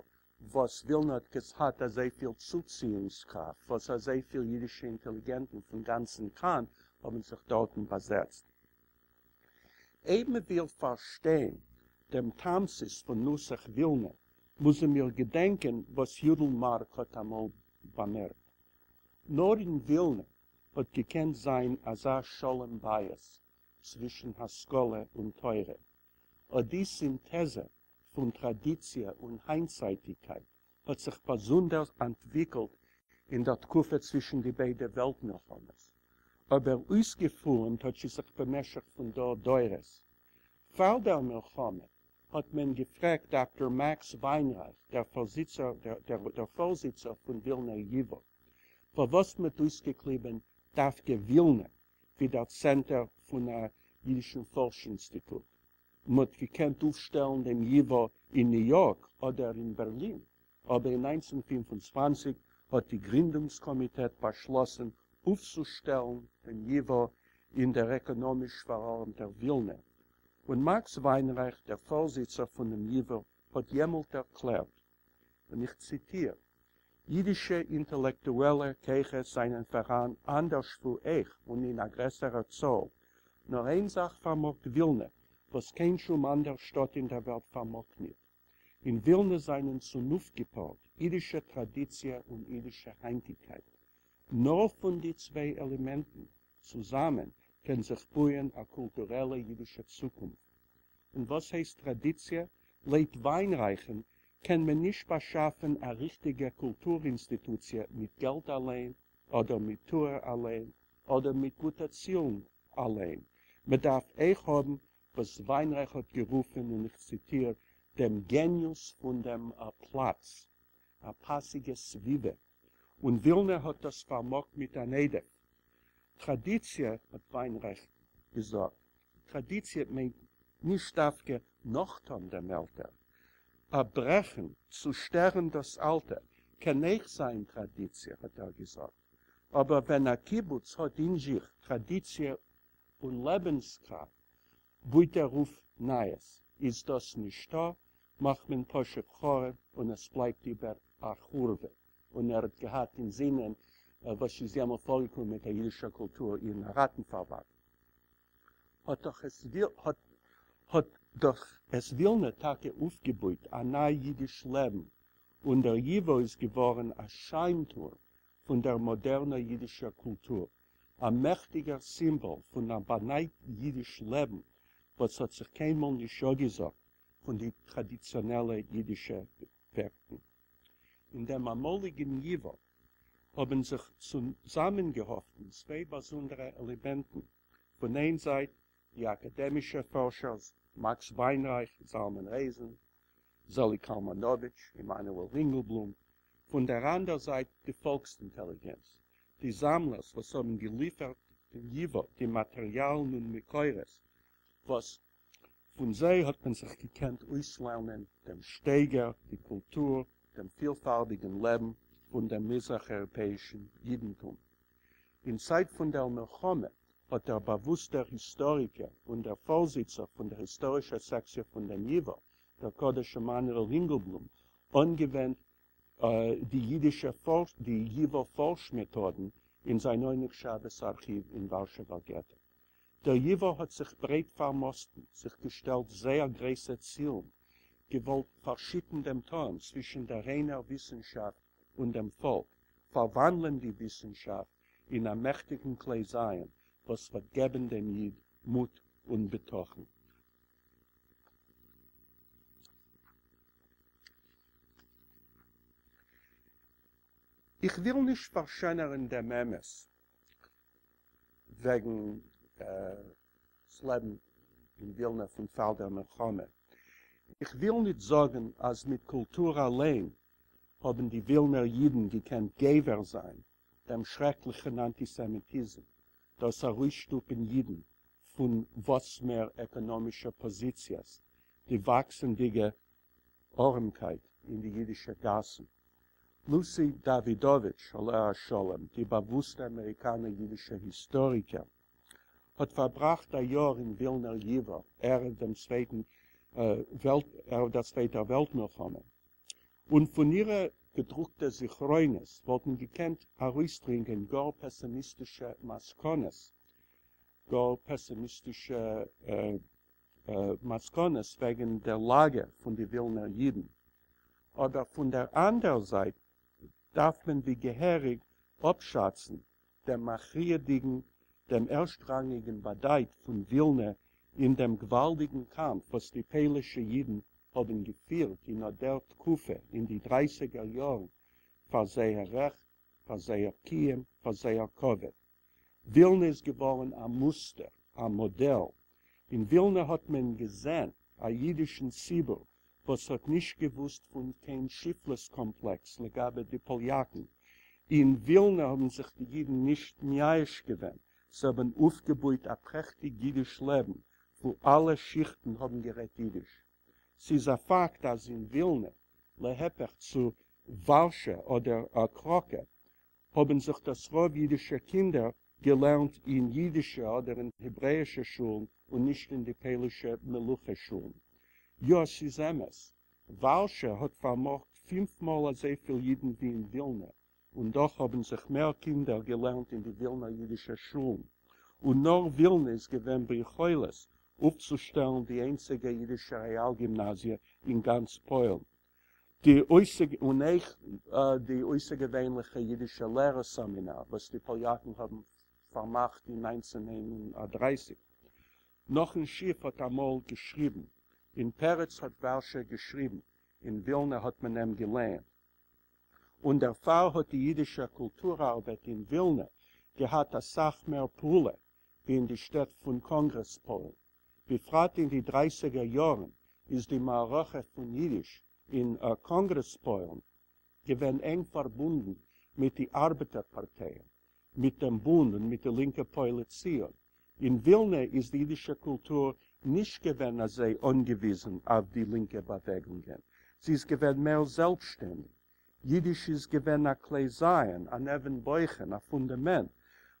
וואס ווילנע האט געהאט אזויפיל צוציאונגס-קראפט, וואס אזויפיל אידישע אינטעליגענטן פון גאנצן קאנט האבן זיך דארטן באזעצט. אויב מען וויל פארשטיין דעם תמצית פון נוסח ווילנע, מוזן מיר געדענקען וואס יודל מארק האט אמאל באמערקט. נאר אין ווילנע האט געקענט זיין אזא שלום בית צווישן השכלה און תורה. אט די סינטעזע פון טראדיציע און היינטצייטיגקייט האט זיך באזונדערס אנטוויקלט אין דער תקופה צווישן די ביידע וועלט מלחמות, אבער אויסגעפורעמט האט זי זיך במשך פון דור דורות. פאר דער מלחמה. האט מען געפרעגט דאקטאר מעקס וויינרייך, דער פארזיצער דער פארזיצער פון ווילנער ייווא, פארוואס מ'האט אויסגעקליבען דווקא ווילנע ווי דער צענטער פון א אידישן פארש-אינסטיטוט. מ'האט געקענט אויפשטעלן דעם ייווא אין ניו יארק אדער אין בערלין, אבער אין 1925 האט די גרינדונגס קאמיטעט באשלאסן אויפצושטעלן דעם ייווא אין דער עקאנאמיש פארארעמטער ווילנע, און מאקס וויינרייך, דער פארזיצער פונעם ייווא, האט יעמאלט ערקלערט, און איך ציטיר, יידישע אינטעלעקטועלע כוחות זיינען פאראן אנדערשוואו אויך און אין א גרעסערער צאל, נאר איין זאך פארמאגט ווילנע, וואס קיין שום אנדער שטאט אין דער וועלט פארמאגט ניט. אין ווילנע זיינען צונויפגעפארט יידישע טראדיציע און יידישע היינטיגקייט. נאר פון די צוויי עלעמענטן צוזאמען קען זיך בויען א קולטורעלע יידישע צוקונפט. און וואס הייסט טראדיציע? לויט וויינרייכן קען מען נישט באשאפן א ריכטיגע קולטור אינסטיטוציע מיט געלט אליין, אדער מיט טוער אליין, אדער מיט גוטע צילן אליין. מען דארף אויך האבן וואס וויינרייך האט גערופן, און איך ציטיר, דעם געניוס פון דעם פלאץ, א פאסיגע סביבה. און ווילנע האט דאס פארמאגט מיט אן עודף. טראדיציע, האט וויינרייך געזאגט, טראדיציע מיינט נישט דווקא נאכטון דעם עלטער. א ברעכן, צושטערן דאס אלטע, קען אויך זיין טראדיציע, האט ער געזאגט. אבער ווען א קיבוץ האט אין זיך טראדיציע און לעבנסקראפט, בויט ער אויף נייעס. איז דאס נישטא, מאכט מען פשוט חרוב און עס בלייבט איבער א חורבה. און ער האט געהאט אין זינען וואס איז יעמאלט פארגעקומען מיט דער אידישער קולטור אין ראטנפארבאנד. האט דאך עס האט האט דאך עס ווילנע טאקע אויפגעבויט א ניי אידיש לעבן, און דער ייווא איז געווארן א שיינטורם פון דער מאדערנער אידישער קולטור, א מעכטיגער סימבאל פון א באנייט אידיש לעבן וואס האט זיך קיינמאל נישט אפגעזאגט פון די טראדיציאנעלע אידישע ווערטן. אין דעם אמאליגן ייווא האבן זיך צוזאמענגעהאפטן צוויי באזונדערע עלעמענטן, פון איין זייט די אקאדעמישע פארשערס מאקס וויינרייך, זלמן רייזען, זעליג קאלמאנאוויטש, עמנואל רינגעלבלום, פון דער אנדער זייט די פאלקס-אינטעליגענץ, די זאמלערס וואס האבן געליפערט דעם ייווא די מאטעריאלן און מקורות וואס פון זיי האט מען זיך געקענט אויסלערנען דעם שטייגער, די קולטור, דעם פילפארביגן לעבן פון דעם מזרח-אייראפעאישן יידנטום. אין צייט פון דער מלחמה האט דער באוואוסטער היסטאריקער און דער פארזיצער פון דער היסטארישער סעקציע פון דעם ייווא, דער קדוש עמנואל רינגעלבלום, אנגעווענדט די יידישע די ייווא פארש-מעטאדן אין זיין עונג שבת ארכיוו אין ווארשעווער געטא. דער ייווא האט זיך ברייט פארמאסטן, זיך געשטעלט זייער גרויסע צילן, געוואלט פארשיטן דעם תהום צווישן דער ריינער וויסנשאפט און דעם פאלק, פארוואנדלען די וויסנשאפט אין א מעכטיגן כלי זיין וואס וועט געבן דעם איד מוט און בטחון. איך וויל נישט פארשענערן דעם אמת וועגן דאס לעבן אין ווילנע פון פאר דער מלחמה. איך וויל ניט זאגן אז מיט קולטור אליין האבן די ווילנער אידן געקענט גובר זיין דעם שרעקליכן אנטיסעמיטיזם, דאס ארויסשטופן אידן פון וואס מער עקאנאמישע פאזיציעס, די וואקסנדיגע ארעמקייט אין די אידישע גאסן. לוסי דאווידאוויטש עליה השלום, די באוואוסטע אמעריקאנער אידישע היסטאריקער, האט פארבראכט א יאר אין ווילנער ייווא ערב דעם צווייטן וועלט ערב דער צווייטער וועלט מלחמה, און פון אירע געדרוקטע זכרונות וואלט מען געקענט ארויסדרינגען גאר פעסימיסטישע מסקנות, גאר פעסימיסטישע מסקנות וועגן דער לאגע פון די ווילנער אידן. אבער פון דער אנדער זייט דארף מען ווי געהעריג אפשאצן דעם מכריע'דיגן, דעם ערשטראנגיגן באדייט פון ווילנע אין דעם גוואלדיגן קאמף וואס די פוילישע אידן האבן געפירט אין אט דער תקופה אין די דרייסיגער יארן פאר זייער רעכט, פאר זייער קיום, פאר זייער כבוד. ווילנע איז געווארן א מוסטער, א מאדעל. אין ווילנע האט מען געזען. א אידישן ציבור וואס האט נישט געוואוסט פון קיין שפלות קאמפלעקס לגבי די פאליאקן. אין ווילנע האבן זיך די אידן נישט מייאש געווען, זיי האבן אויפגעבויט א פרעכטיג אידיש לעבן וואו אלע שיכטן האבן גערעדט אידיש. ס'איז א פאקט אז אין ווילנע, להיפך צו ווארשע אדער קראקע, האבן זיך דאס רוב אידישע קינדער געלערנט אין אידישע אדער אין העברעאישע שולן און נישט אין די פוילישע מלוכה שולן. יא, ס'איז אמת, ווארשע האט פארמאגט פינף מאל אזויפיל אידן ווי אין ווילנע, און דאך האבן זיך מער קינדער געלערנט אין די ווילנער אידישע שולן, און נאר ווילנע איז געווען ביכולת אויפצושטעלן די איינציגע אידישע רעאל-גימנאזיע אין גאנץ פוילן. די און אויך די אויסערגעווענליכע אידישע לערער סעמינאר וואס די פאליאקן האבן פארמאכט אין 1931. נחום שיף האט אמאל געשריבן, אין פרץ האט ווארשע געשריבן, אין ווילנע האט מען אים געלייענט. און דערפאר האט די אידישע קולטור-ארבעט אין ווילנע געהאט א סך מער פעולה ווי אין די שטעט פון קאנגרעס פוילן. בפרט אין די דרייסיגער יארן איז די מערכה פון אידיש אין קאנגרעס פוילן געווען ענג פארבונדן מיט די ארבעטער פארטייען, מיט דעם בונד און מיט די לינקע פועלי ציון. אין ווילנע איז די אידישע קולטור נישט געווען אזוי אנגעוויזן אויף די לינקע באוועגונגען, זי איז געווען מער זעלבסשטענדיג. יידיש איז געווען א כלי זיין, אן אבן בוחן, א פונדאמענט,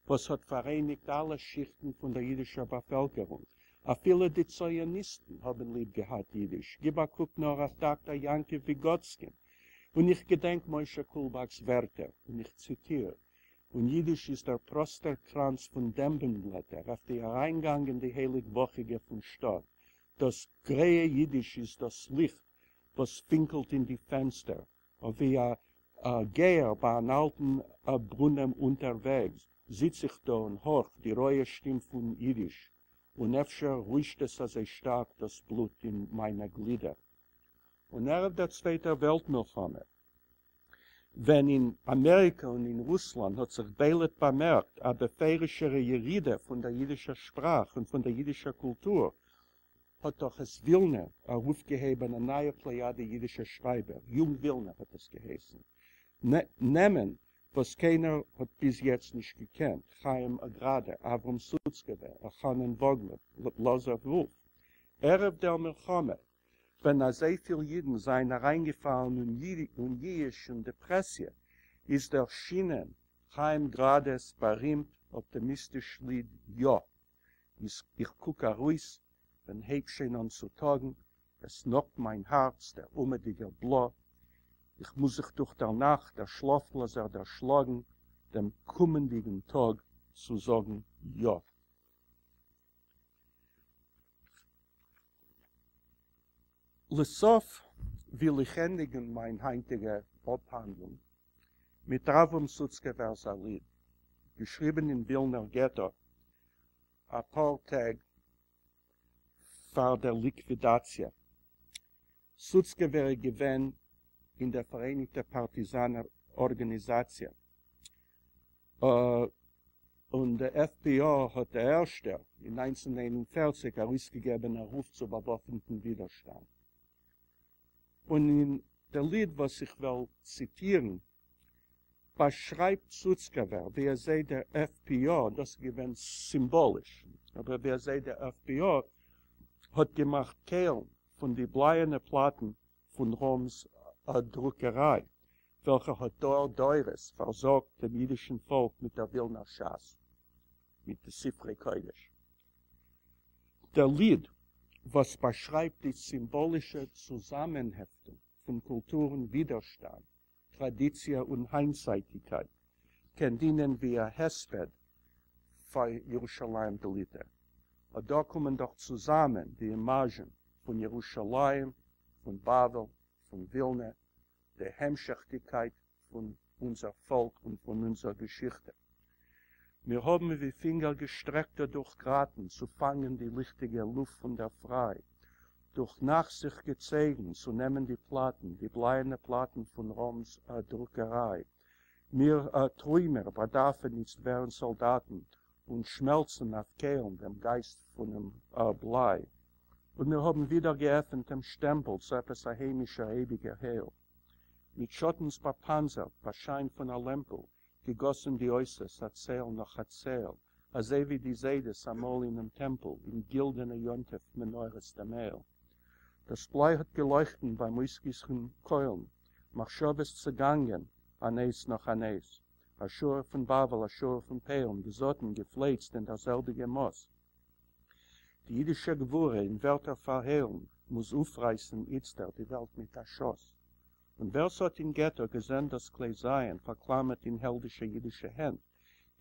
וואס האט פאראייניגט אלע שיכטן פון דער יידישער באפעלקערונג. אפילו די ציוניסטן האבן ליב געהאט יידיש, גיב א קוק נאר אויף דאקטאר יעקב וויגאדסקין. און איך געדענק משה קולבאק'ס ווערטער, און איך ציטיר, און יידיש איז דער פראסטער קראנץ פון דעמבן-בלעטער אויף די אריינגאנגען די הייליג-וואכיגע פון שטאט. דאס גרייע יידיש איז דאס ליכט וואס פינקלט אין די פענסטער, ווי א גייער ביי אן אלטן ברונעם אונטערוועגס, זיץ איך דא און הארך די רויע שטים פון יידיש, און אפשר רוישט עס אזוי שטארק דאס בלוט אין מיינע גלידער. און ערב דער צווייטער וועלט מלחמה, ווען אין אמעריקע און אין רוסלאנד האט זיך בולט באמערקט א בפירוש'ערע ירידה פון דער יידישער שפראך און פון דער יידישער קולטור, האט דאך עס ווילנע ארויפגעהויבן א נייע פלעיאדע יידישע שרייבער, יונג ווילנע האט עס געהייסן, נעמען וואס קיינער האט ביז יעצט נישט געקענט, חיים גראדע, אברהם סוצקעווער, אלחנן וואגלער, לאזאר וואלף. ערב דער מלחמה, ווען אזויפיל אידן זענען אריינגעפאלן אין ייאוש און דעפרעסיע, איז ערשינען חיים גראדע'ס בארימט אפטימיסטיש ליד יא. איך קוק ארויס, ווען הייבט שוין אן צו טאגן, עס נאגט מיין הארץ דער אומעטיגער בלא, איך מוז זיך דורך דער נאכט דער שלאפלאזער דערשלאגן, דעם קומענדיגן טאג צו זאגן יא. לסוף וויל איך ענדיגן מיין היינטיגע אפהאנדלונג מיט אברהם סוצקעווער'ס א ליד, געשריבן אין ווילנער געטא א פאר טעג פאר דער ליקווידאציע. סוצקעווער איז געווען אין דער פאראייניגטער פארטיזאנער ארגאניזאציע, און דער FPO האט דער ערשטער אין 1941 ארויסגעגעבן א רוף צו באוואפנטן ווידערשטאנד. און אין דער ליד וואס איך וועל ציטירן, באשרייבט סוצקעווער ווי אזוי דער FPO, דאס איז געווען סימבאליש, אבער ווי אזוי דער FPO האט געמאכט קיילן פון די בלייענע פלאטן פון ראמס דרוקעריי, וועלכע האט דור דורות פארזארגט דעם אידישן פאלק מיט דער ווילנער ש"ס, מיט די ספרי קודש. דער ליד, וואס באשרייבט די סימבאלישע צוזאמענהעפטונג פון קולטור און ווידערשטאנד, טראדיציע און היינטצייטיגקייט, קען דינען ווי א הספד פאר ירושלים דליטא. אט דא קומען דאך צוזאמען די אימאזשן פון ירושלים, פון בבל, פון ווילנע, די המשכ'דיגקייט פון אונזער פאלק און פון אונזער געשיכטע. מיר האבן ווי פינגער געשטרעקטע דורך גראטן צו פאנגען די ליכטיגע לופט פון דער פריי, דורך נאכט זיך געצויגן צו נעמען די פלאטן, די בלייענע פלאטן פון ראמס דרוקעריי. מיר טרוימער באדארפן איצט ווערן סאלדאטן און שמעלצן אויף קיילן דעם גייסט פונעם בליי. און מיר האָבן ווידער געעפֿנט דעם שטעמפּל צו עפּעס אַ היימישער אייביקער הייל. מיט שאָטנס באַפּאַנצערט, בײַ שײַן פֿון אַ לעמפּל, געגאָסן די אותות, אַ צעל נאָך אַ צעל, אַזוי ווי די זיידעס אַ מאָל אינעם טעמפּל, אין גילדענע יום-טובֿ-מנורות דעם מעל. דאָס בליי האָט געלויכטן בײַם אויסגיסן קוילן, מחשבֿות צעגאַנגען, אַן אות נאָך אַן אות. אַ שורה פֿון בבֿל, אַ שורה פֿון פּוילן, געזאָטן, געפֿלייצט אין דער זעלביקער מאָס. די ייִדישע גבֿורה אין ווערטער פֿאַרהוילן מוז אויפֿרײַסן איצטער די וועלט מיט אַ שאָס. און ווער ס'האָט אין געטאָ געזען דאָס כּלי-זיין פֿאַרקלאַמערט אין העלדישע ייִדישע הענט,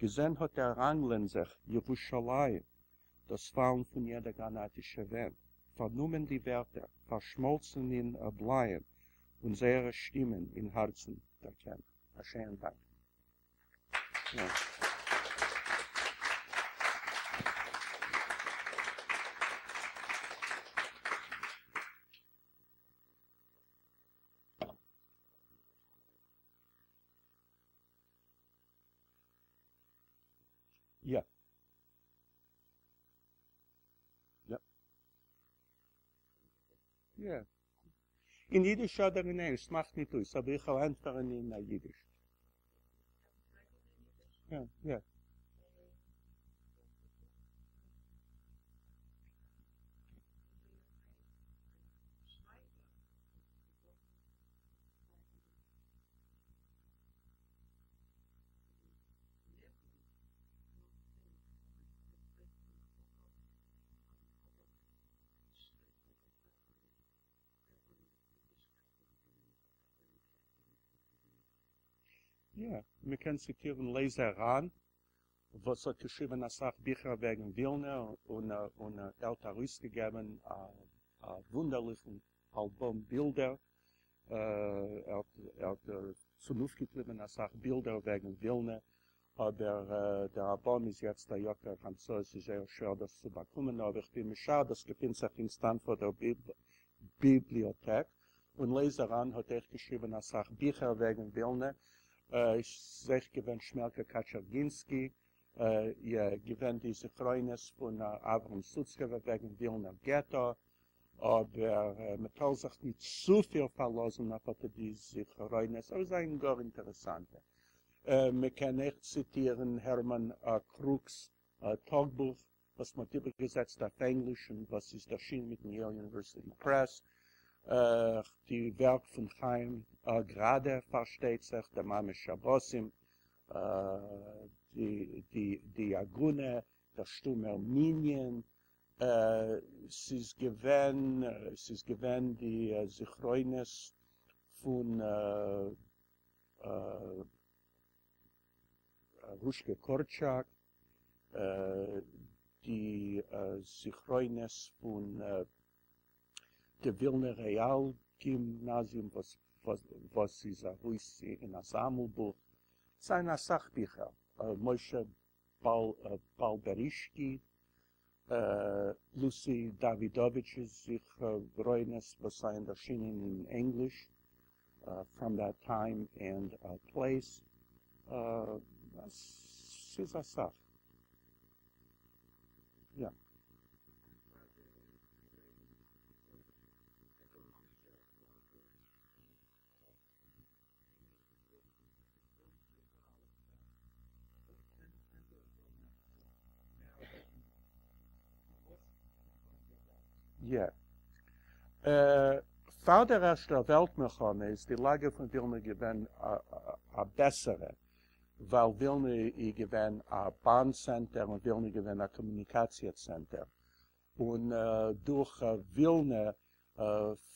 געזען האָט ער ראַנגלען זיך ירושלים, דאָס פֿאַלן פֿון יעדער גראַנאַטישע ווענט, פֿאַרנומען די ווערטער, פֿאַרשמאָלצן אין בלײַען און זייערע שטימען אין האַרצן דערקענט. אַ שעהנעם דאַנק. יא. יא. יא. אין אידיש אדער אין ענגליש, ס'מאכט ניט אויס, אבער איך וועל ענטפערן אין אידיש. יא, יא. יא, מען קען ציטירן לייזער ראן וואס האט געשריבען אסאך ביכער וועגן ווילנע און און ער האט ארויסגעגעבען א וואונדערליכן אלבום בילדער, ער האט צונויפגעקליבען אסאך בילדער וועגן ווילנע, אבער דער אלבום איז יעצט א יקר המצאה, עס איז זייער שווער דאס צו באקומען, אבער איך בין משער דאס געפינט זיך אין סטענפארדער ביבליאטעק, און לייזער ראן האט אויך געשריבען אסאך ביכער וועגן ווילנע, איז אויך געווען שמעלקע קאטשערגינסקי, געווען די זכרונות פון אברהם סוצקעווער וועגן ווילנער געטא, אבער מען טאר זיך ניט צופיל פארלאזן אויף אט די זכרונות, אבער זיי זענען גאר אינטערעסאנטע. מען קען אויך ציטירן הערמאן קרוק'ס טאגבוך וואס מען האט איבערגעזעצט אויף ענגליש און וואס איז ערשינען מיטן יעיל יוניווערסיטי פרעס, די ווערק פון חיים גראדע פארשטייט זיך, די מאמע שבתים, די עגונה, דער שטומער מנין, ס'איז געווען, ס'איז געווען די זכרונות פון רושקע קארטשאק, די זכרונות פון די ווילנער רעאל גימנאזיום וואס איז ארויס אין א זאמלבוך, ס'זענען אסאך ביכער, משה באלבערישקי, לוסי דאווידאוויטש'ס זכרונות וואס זענען ערשינען אין ענגליש, From That Time and Place, ס'איז אסאך. יא. יא. פאר דער ערשטער וועלט מלחמה איז די לאגע פון ווילנע געווען א בעסערע, ווייל ווילנע איז געווען א באן צענטער און ווילנע איז געווען א קאמוניקאציע צענטער, און דורך ווילנע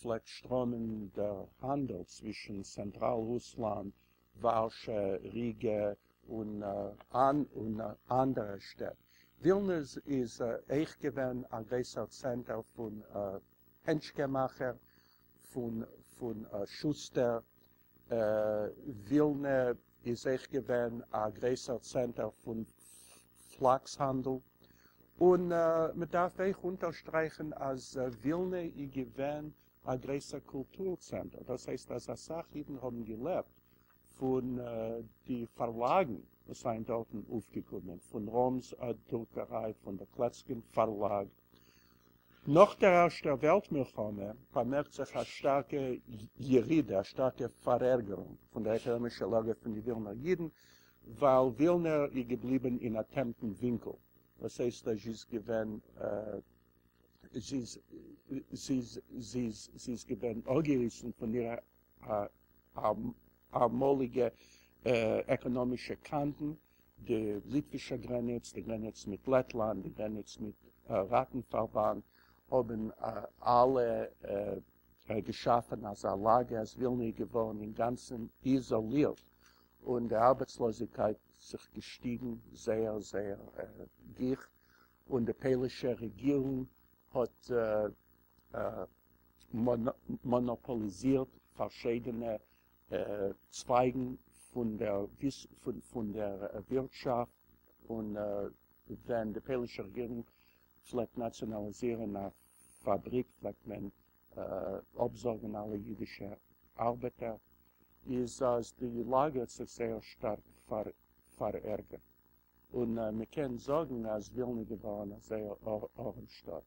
פלעגט שטראמען דער האנדל צווישן צענטראל רוסלאנד, ווארשע, ריגע און אנדערע שטעט. ווילנע איז אויך געווען א גרויסער צענטער פון הענטשקע מאכער, פון שוסטער. ווילנע איז אויך געווען א גרויסער צענטער פון פלאקס האנדל. און מען דארף אויך אונטערשטרייכן אז ווילנע איז געווען א גרויסער קולטור צענטער, דאס הייסט אז אסאך אידן האבן געלעבט פון די פארלאגן וואס זענען דארטן אויפגעקומען, פון ראמס דרוקעריי, פון דער קלעצקין פארלאג. נאך דער ערשטער וועלט מלחמה באמערקט זיך א שטארקע ירידה, א שטארקע פארערגערונג פון דער עקאנאמישער לאגע פון די ווילנער אידן, ווייל ווילנע איז געבליבן אין א טעמפן ווינקל, דאס הייסט אז זי איז געווען זי איז זי איז זי איז געווען אפגעריסן פון אירע אמאליגע עקאנאמישע קאנטן, די ליטווישע גרעניץ, די גרעניץ מיט לעטלאנד, די גרעניץ מיט ראטן-פארבאנד, האבן אלע געשאפן אזא לאגע אז ווילנע איז געווארן אינגאנצן איזאלירט, און די ארבעטסלאזיגקייט זיך געשטיגן זייער זייער גיך, און די פוילישע רעגירונג האט מאנאפאליזירט פארשידענע צווייגן פון דער פון דער ווירטשאפט, און ווען די פוילישע רעגירונג פלעגט נאציאנאליזירן א פאבריק פלעגט מען אפזאגן אלע אידישע ארבעטער, איז אז די לאגע האט זיך זייער שטארק פארערגערט, און מען קען זאגן אז ווילנע איז געווארן א זייער ארעם שטאט.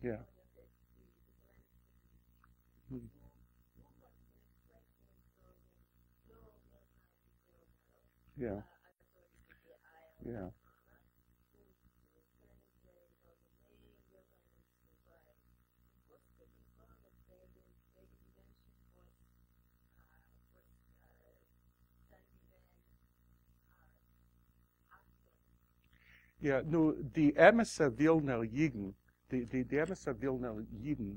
יא. יא. יא. יא, נו, די אמת'ע ווילנער אידן, די די אמת'ע ווילנער אידן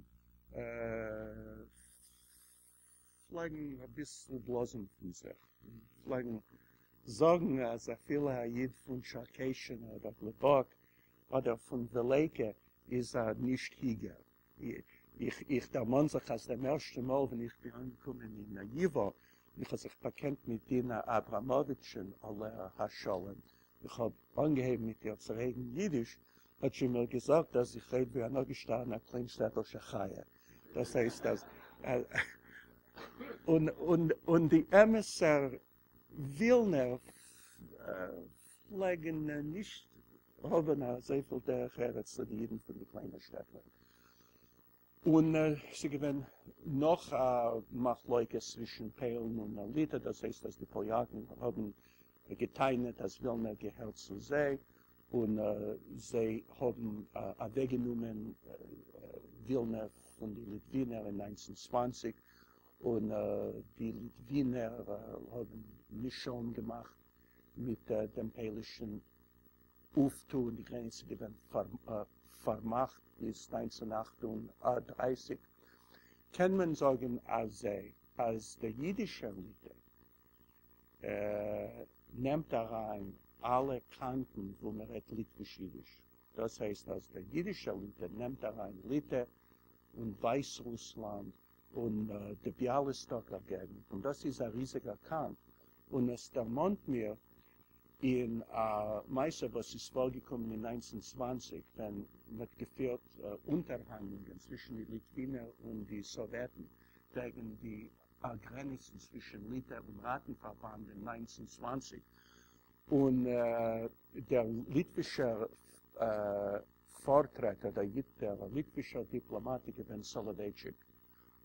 פלעגן אביסל בלאזן פון זיך, פלעגן זאגן אז אפילו א איד פון טשערקעשין אדער גלובאק אדער פון ווילעיקע איז א נישט היגער. איך איך דערמאן זיך אז דעם ערשטן מאל ווען איך בין אנגעקומען אין ייווא און איך האב זיך באקענט מיט דינה אבראמאוויטש'ן עליה השלום, איך האב אנגעהויבן מיט איר צו רעדן אידיש, האט זי מיר געזאגט אז איך רעד ווי אן אפגעשטארבענע קליינשטעטלשע חיה. דאס הייסט אז און און און די אמת'ער ווילנער פלעגן נישט האבן אזויפיל דרך ארץ צו די אידן פון די קליינע שטעטלעך. און ס'איז געווען נאך א מחלוקת צווישן פוילן און ליטע, דאס הייסט אז די פאליאקן האבן גע'טענה'ט אז ווילנע געהערט צו זיי, און זיי האבן אוועקגענומען ווילנע פון די ליטווינער אין 1920, און די ליטווינער האבן נישט שלום געמאכט מיט דעם פוילישן אויפטו, און די גרעניץ איז געווען פארמאכט ביז 1938. קען מען זאגן אז אז דער אידישער ליטע נעמט אריין אלע קאנטן וואו מען רעדט ליטוויש אידיש, דאס הייסט אז דער אידישער ליטע נעמט אריין ליטע און ווייסרוסלאנד און די ביאליסטאקער געגנט, און דאס איז א ריזיגער קאנט, און עס דערמאנט מיר אין א מעשה וואס איז פארגעקומען אין 1920 ווען מען האט געפירט אונטערהאנדלונגען צווישן די ליטווינער און די סאוועטן וועגן די גרעניצן צווישן ליטע און ראטן-פארבאנד אין 1920, און דער ליטווישער פארטרעטער, דער ליטווישער דיפלאמאט איז געווען סאלאווייטשיק,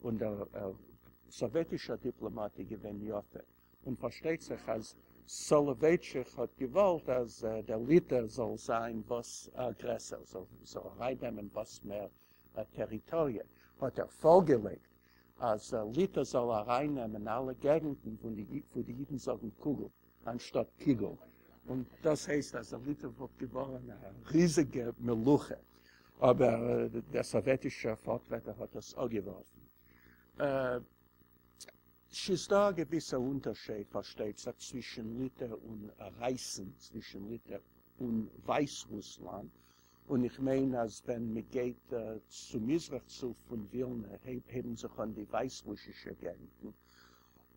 און דער סאוועטישער דיפלאמאט איז געווען יאפע, און פארשטייט זיך אז סאלאווייטשיק האט געוואלט אז דער ליטע זאל זיין וואס גרעסער, זאל ארייננעמען וואס מער טעריטאריע, האט ער פארגעלייגט אז ליטע זאל ארייננעמען אלע געגנטן וואו די אידן זאגן קוגל אנשטאט קיגל, און דאס הייסט אז ליטע וואלט געווארן א ריזיגע מלוכה, אבער דער סאוועטישער פארטרעטער האט דאס אפגעווארפן. ס'איז דא א געוויסע אונטערשייד פארשטייט זיך צווישן ליטע און רייסן, צווישן ליטע און ווייסרוסלאנד, און איך מיין אז ווען מען גייט צו מזרח צו פון ווילנע הייבן זיך אן די ווייסרוסישע געגנטן,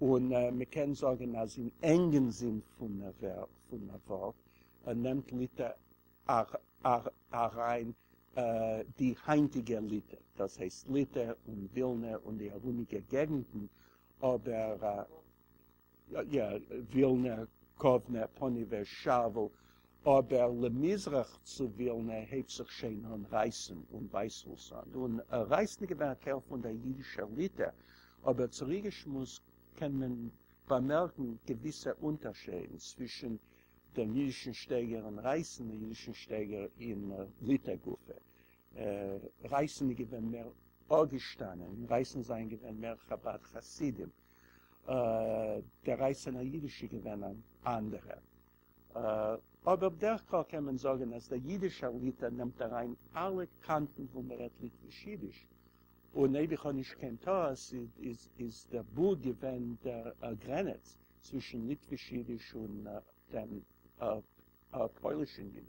און מען קען זאגן אז אין ענגן זין פון ווארט נעמט ליטע אריין די היינטיגע ליטע. דאס הייסט ליטע און ווילנע און די ארומיגע געגנטן, אבער יא, ווילנע, קאוונע, פאניוועזש, שאוול, אבער למזרח צו ווילנע הייבט זיך שוין אן רייסן און ווייסרוסלאנד, און רייסן איז געווען א טייל פון דער אידישער ליטע, אבער צוריקגעשמועסט קען מען באמערקן געוויסע אונטערשיידן צווישן דעם אידישן שטייגער אין רייסן און אידישן שטייגער אין ליטע גופא. רייסן איז געווען מער אפגעשטאנען, אין רייסן זענען געווען מער חבד חסידים, דער רייסענער אידיש איז געווען אן אנדערער. אבער בדרך כלל קען מען זאגן אז דער אידישער ליטע נעמט אריין אלע קאנטן וואו מען רעדט ליטוויש אידיש, און אויב איך האב נישט קיין טעות איז דער בוג געווען דער גרענעץ צווישן ליטוויש אידיש און דעם פוילישן אידיש.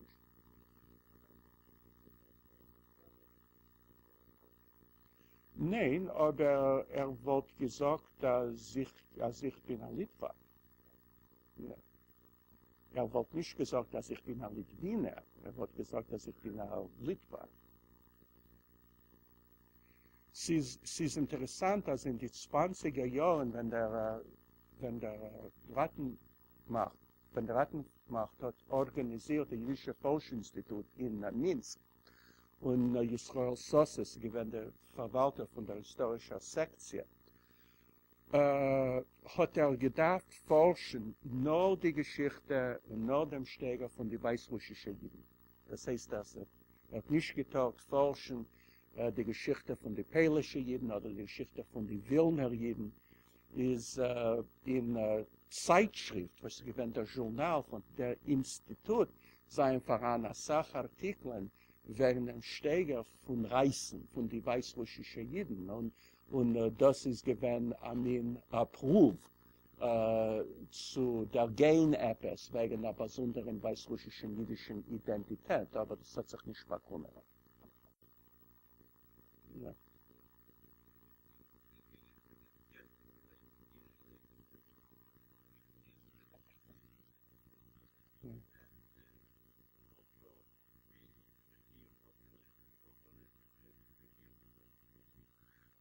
ניין, אבער ער וואלט געזאגט אז איך בין א ליטוואק. ער וואלט נישט געזאגט אז איך בין א ליטווינער, ער וואלט געזאגט אז איך בין א ליטוואק. ס'איז ס'איז אינטערעסאנט אז אין די צוואנציגער יארן ווען דער ווען דער ראטן-מאכט ווען די ראטן-מאכט האט ארגאניזירט די אידישע פארש אינסטיטוט אין מינסק און ישראל סאסעס איז געווען דער פארוואלטער פון דער היסטארישער סעקציע האט ער געדארפט פארשן נאר די געשיכטע און נאר דעם שטייגער פון די ווייסרוסישע אידן. דאס הייסט אז ער האט נישט געטארט פארשן די געשיכטע פון די פוילישע אידן אדער די געשיכטע פון די ווילנער אידן. איז אין צייטשריפט וואס איז געווען דער זשורנאל פון דער אינסטיטוט זענען פאראן אסאך ארטיקלען וועגן דעם שטייגער פון רייסן פון די ווייסרוסישע אידן און און דאס איז געווען א מין פרואוו צו דערגיין עפעס וועגן א באזונדערן ווייסרוסישן אידישן אידענטיטעט, אבער דאס האט זיך נישט באקומען.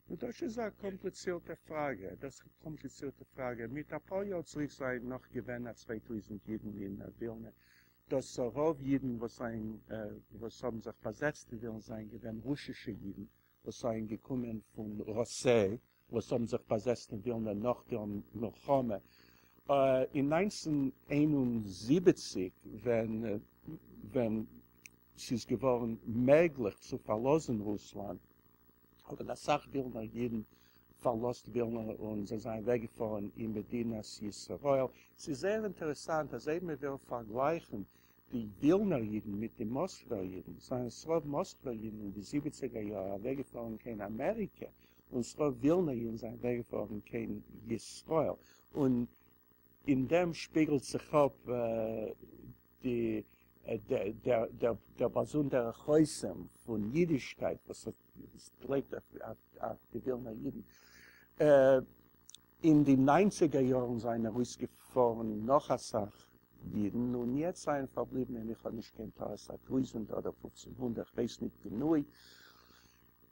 נו דאס איז א קאמפליצירטע פראגע, דאס איז א קאמפליצירטע פראגע, מיט אפאר יאר צוריק זענען נאך געווען א 2000 אידן אין ווילנע, דאס רוב אידן וואס זענען וואס האבן זיך באזעצט אין ווילנע זענען געווען רוסישע אידן וואס זענען געקומען פון ראסיי וואס האבן זיך באזעצט אין ווילנע נאך דער מלחמה אין 1971 ווען ווען ס'איז געווארן מעגליך צו פארלאזן רוסלאנד האבן אסאך ווילנער אידן פארלאזט ווילנע און זיי זענען אוועקגעפארן אין מדינת ישראל. ס'איז זייער אינטערעסאנט אז אויב מען וויל פארגלייכן די ווילנער אידן מיט די מאסקווער אידן, זענען ס'רוב מאסקווער אידן אין די זיבעציגער יאר אוועקגעפארן קיין אמעריקע, און ס'רוב ווילנער אידן זענען אוועקגעפארן קיין ישראל, און אין דעם שפיגלט זיך אפ די דער באזונדערער חותם פון אידישקייט וואס האט געלעבט אויף די ווילנער אידן. אין די ניינציגער יארן זענען ארויסגעפארן נאך אסאך אידן, און יעצט זענען פארבליבן, אויב איך האב נישט קיין טעות, א טויזנט אדער פופצן הונדערט, כ'ווייס ניט גענוי.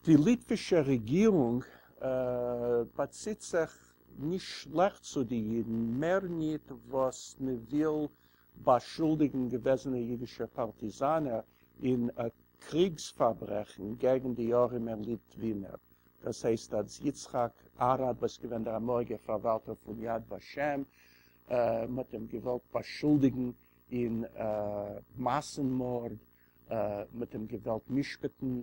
די ליטווישע רעגירונג באציט זיך נישט שלעכט צו די אידן, מער ניט וואס מ'וויל באשולדיגן געוועזענע אידישע פארטיזאנער אין קריגס פארברעכן געגן די ארימע ליטווינער, דאס הייסט אז יצחק אראד וואס איז געווען דער אמאליגער פארוואלטער פון יד ושם, מען האט אים געוואלט באשולדיגן אין מאסן מארד, מען האט אים געוואלט משפט'ן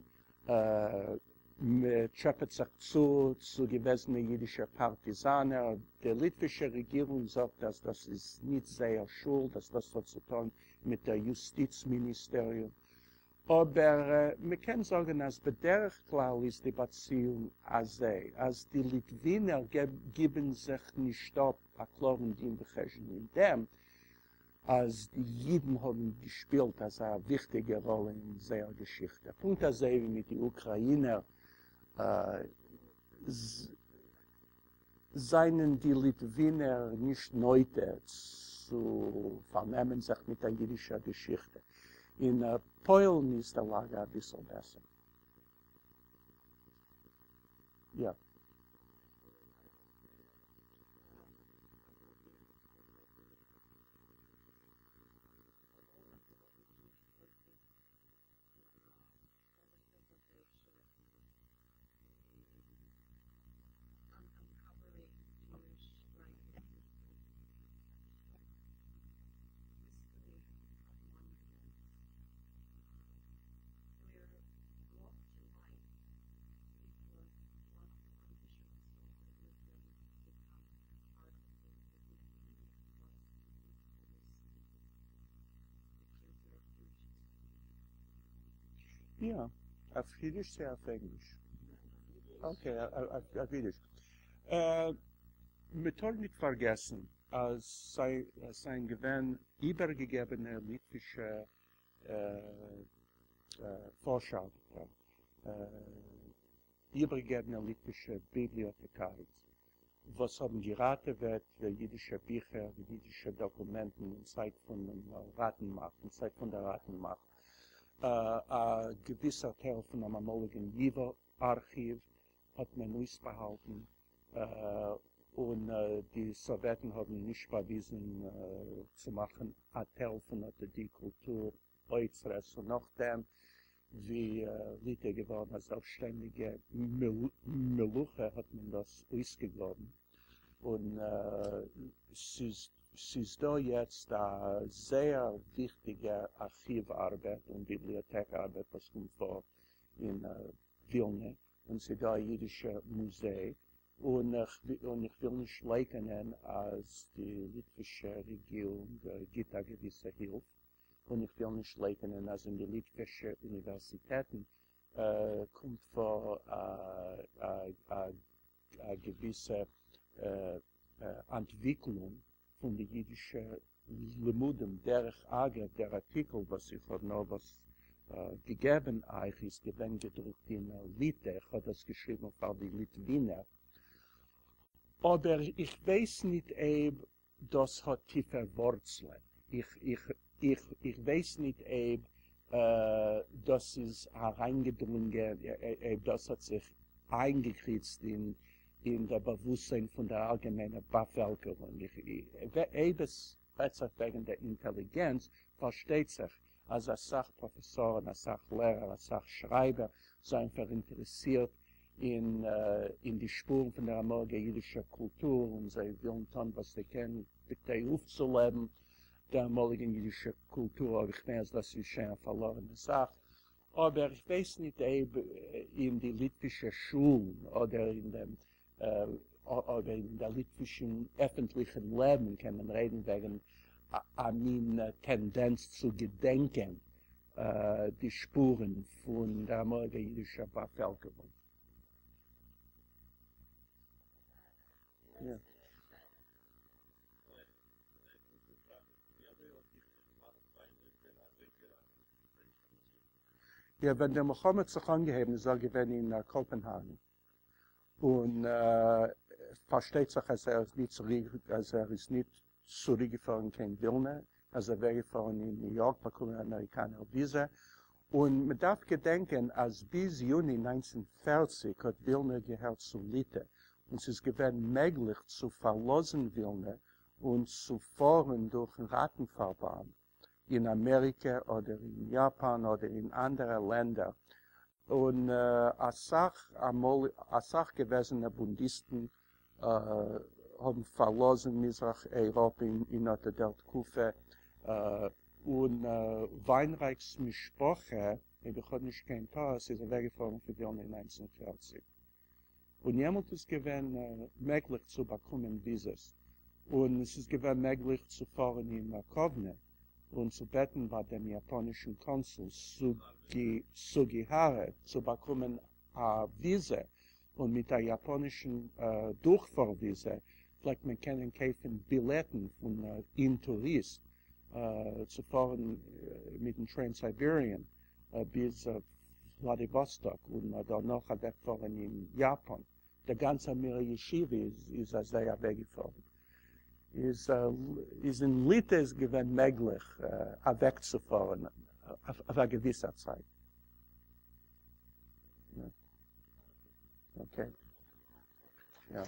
מען טשעפעט זיך צו צו געוועזענע אידישע פארטיזאנער, די ליטווישע רעגירונג זאגט אז דאס איז ניט זייער שולד, אז דאס האט צו טאן מיט דער יוסטיץ מיניסטעריום, אבער מען קען זאגן אז בדרך כלל איז די באציאונג אזוי אז די ליטווינער גיבן זיך נישט אפ א קלארן דין וחשבון אין דעם אז די אידן האבן געשפילט אזא וויכטיגע ראלע אין זייער געשיכטע, פונקט אזוי ווי מיט די אוקראינער זענען די ליטווינער נישט נוטה צו פארנעמען זיך מיט דער אידישער געשיכטע. אין פוילן איז די לאגע אביסל בעסער. יא. יא, אויף אידיש צי אויף ענגליש? אקעי, אויף אידיש. מ'טאר ניט פארגעסן אז ס'זענען געווען איבערגעגעבענע ליטווישע פארשער, איבערגעגעבענע ליטווישע ביבליאטעקארינס, וואס האבן געראטעוועט אידישע ביכער, אידישע דאקומענטן אין צייט פונעם ראטנמאכט, אין צייט פון דער ראטנמאכט. א געוויסער טייל פונעם אמאליגן ייווא ארכיוו האט מען אויסבאהאלטן, און די סאוועטן האבן נישט באוויזן צו מאכן א תל פון אט די קולטור אוצרות, און נאכדעם ווי ליטע איז געווארן א זעלבסשטענדיגע מלוכה האט מען דאס אויסגעגראבן, און ס'איז דא יעצט א זייער וויכטיגע ארכיוו ארבעט און ביבליאטעק ארבעט וואס קומט פאר אין ווילנע, און ס'איז דא א אידישע מוזיי, און איך וויל נישט לייקענען אז די ליטווישע רעגירונג גיט א געוויסע הילף, און איך וויל נישט לייקענען אז אין די ליטווישע אוניווערסיטעטן קומט פאר א געוויסע אנטוויקלונג פון די אידישע לימודים. דרך אגב, דער ארטיקל וואס איך האב נארוואס געגעבן אייך איז געווען געדרוקט אין ליטע, איך האב דאס געשריבן פאר די ליטווינער, אבער איך ווייס ניט אויב דאס האט טיפע ווארצלען, איך ווייס ניט אויב דאס איז אריינגעדרונגען, אויב דאס האט זיך איינגעקריצט אין דער באוואוסטזיין פון דער אלגעמיינער באפעלקערונג. אויב עס רעדט זיך וועגן דער אינטעליגענץ, פארשטייט זיך אז אסאך פראפעסארן, אסאך לערער, אסאך שרייבער זענען פאראינטערעסירט אין אין די שפורן פון דער אמאליגער אידישער קולטור, און זיי ווילן טון וואס זיי קענען בכדי אויפצולעבן דער אמאליגן אידישער קולטור, אבער איך מיין אז דאס איז שוין א פארלארענע זאך. אבער איך ווייס ניט אויב אין די ליטווישע שולן אדער אין דעם אדער אין דער ליטווישן עפנטליכן לעבן קען מען רעדן וועגן א מין טענדענץ צו געדענקען די שפורן פון דער אמאליגער אידישער באפעלקערונג. יא, ווען די מלחמה האט זיך אנגעהויבן איז ער געווען אין קאפענהאגן, און פארשטייט זיך אז ער איז ניט צוריק אז ער איז ניט צוריקגעפארן קיין ווילנע, ער איז אוועקגעפארן אין ניו יארק באקומען אן אמעריקאנער וויזע, און מען דארף געדענקען אז ביז יוני 1940 האט ווילנע געהערט צו ליטע, און ס'איז געווען מעגליך צו פארלאזן ווילנע און צו פארן דורכן ראטן-פארבאנד אין אמעריקע אדער אין יאפאן אדער אין אנדערע לענדער, און אסאך אמאל אסאך געוועזענע בונדיסטן האבן פארלאזן מזרח אייראפע אין אט דער תקופה, און וויינרייכ'ס משפחה, אויב איך האב נישט קיין טעות, איז אוועקגעפארן פון ווילנע אין 1940. און יעמאלט איז געווען מעגליך צו באקומען וויזעס, און עס איז געווען מעגליך צו פארן אין קאוונע און צו בעטן ביי דעם יאפאנישן קאנסול סוגיהארע צו באקומען א וויזע, און מיט א יאפאנישן דורכפאר וויזע פלעגט מען קענען קויפן בילעטן פון אינטוריסט צו פארן מיטן טרענס-סייביריען ביז וולאדיוואסטאק און דערנאך אוועקפארן אין יאפאן. דער גאנצער מירער ישיבה איז אזוי אוועקגעפארן. איז איז אין ליטע איז געווען מעגליך אוועקצופארן אויף א געוויסער צייט. אקעי. יא.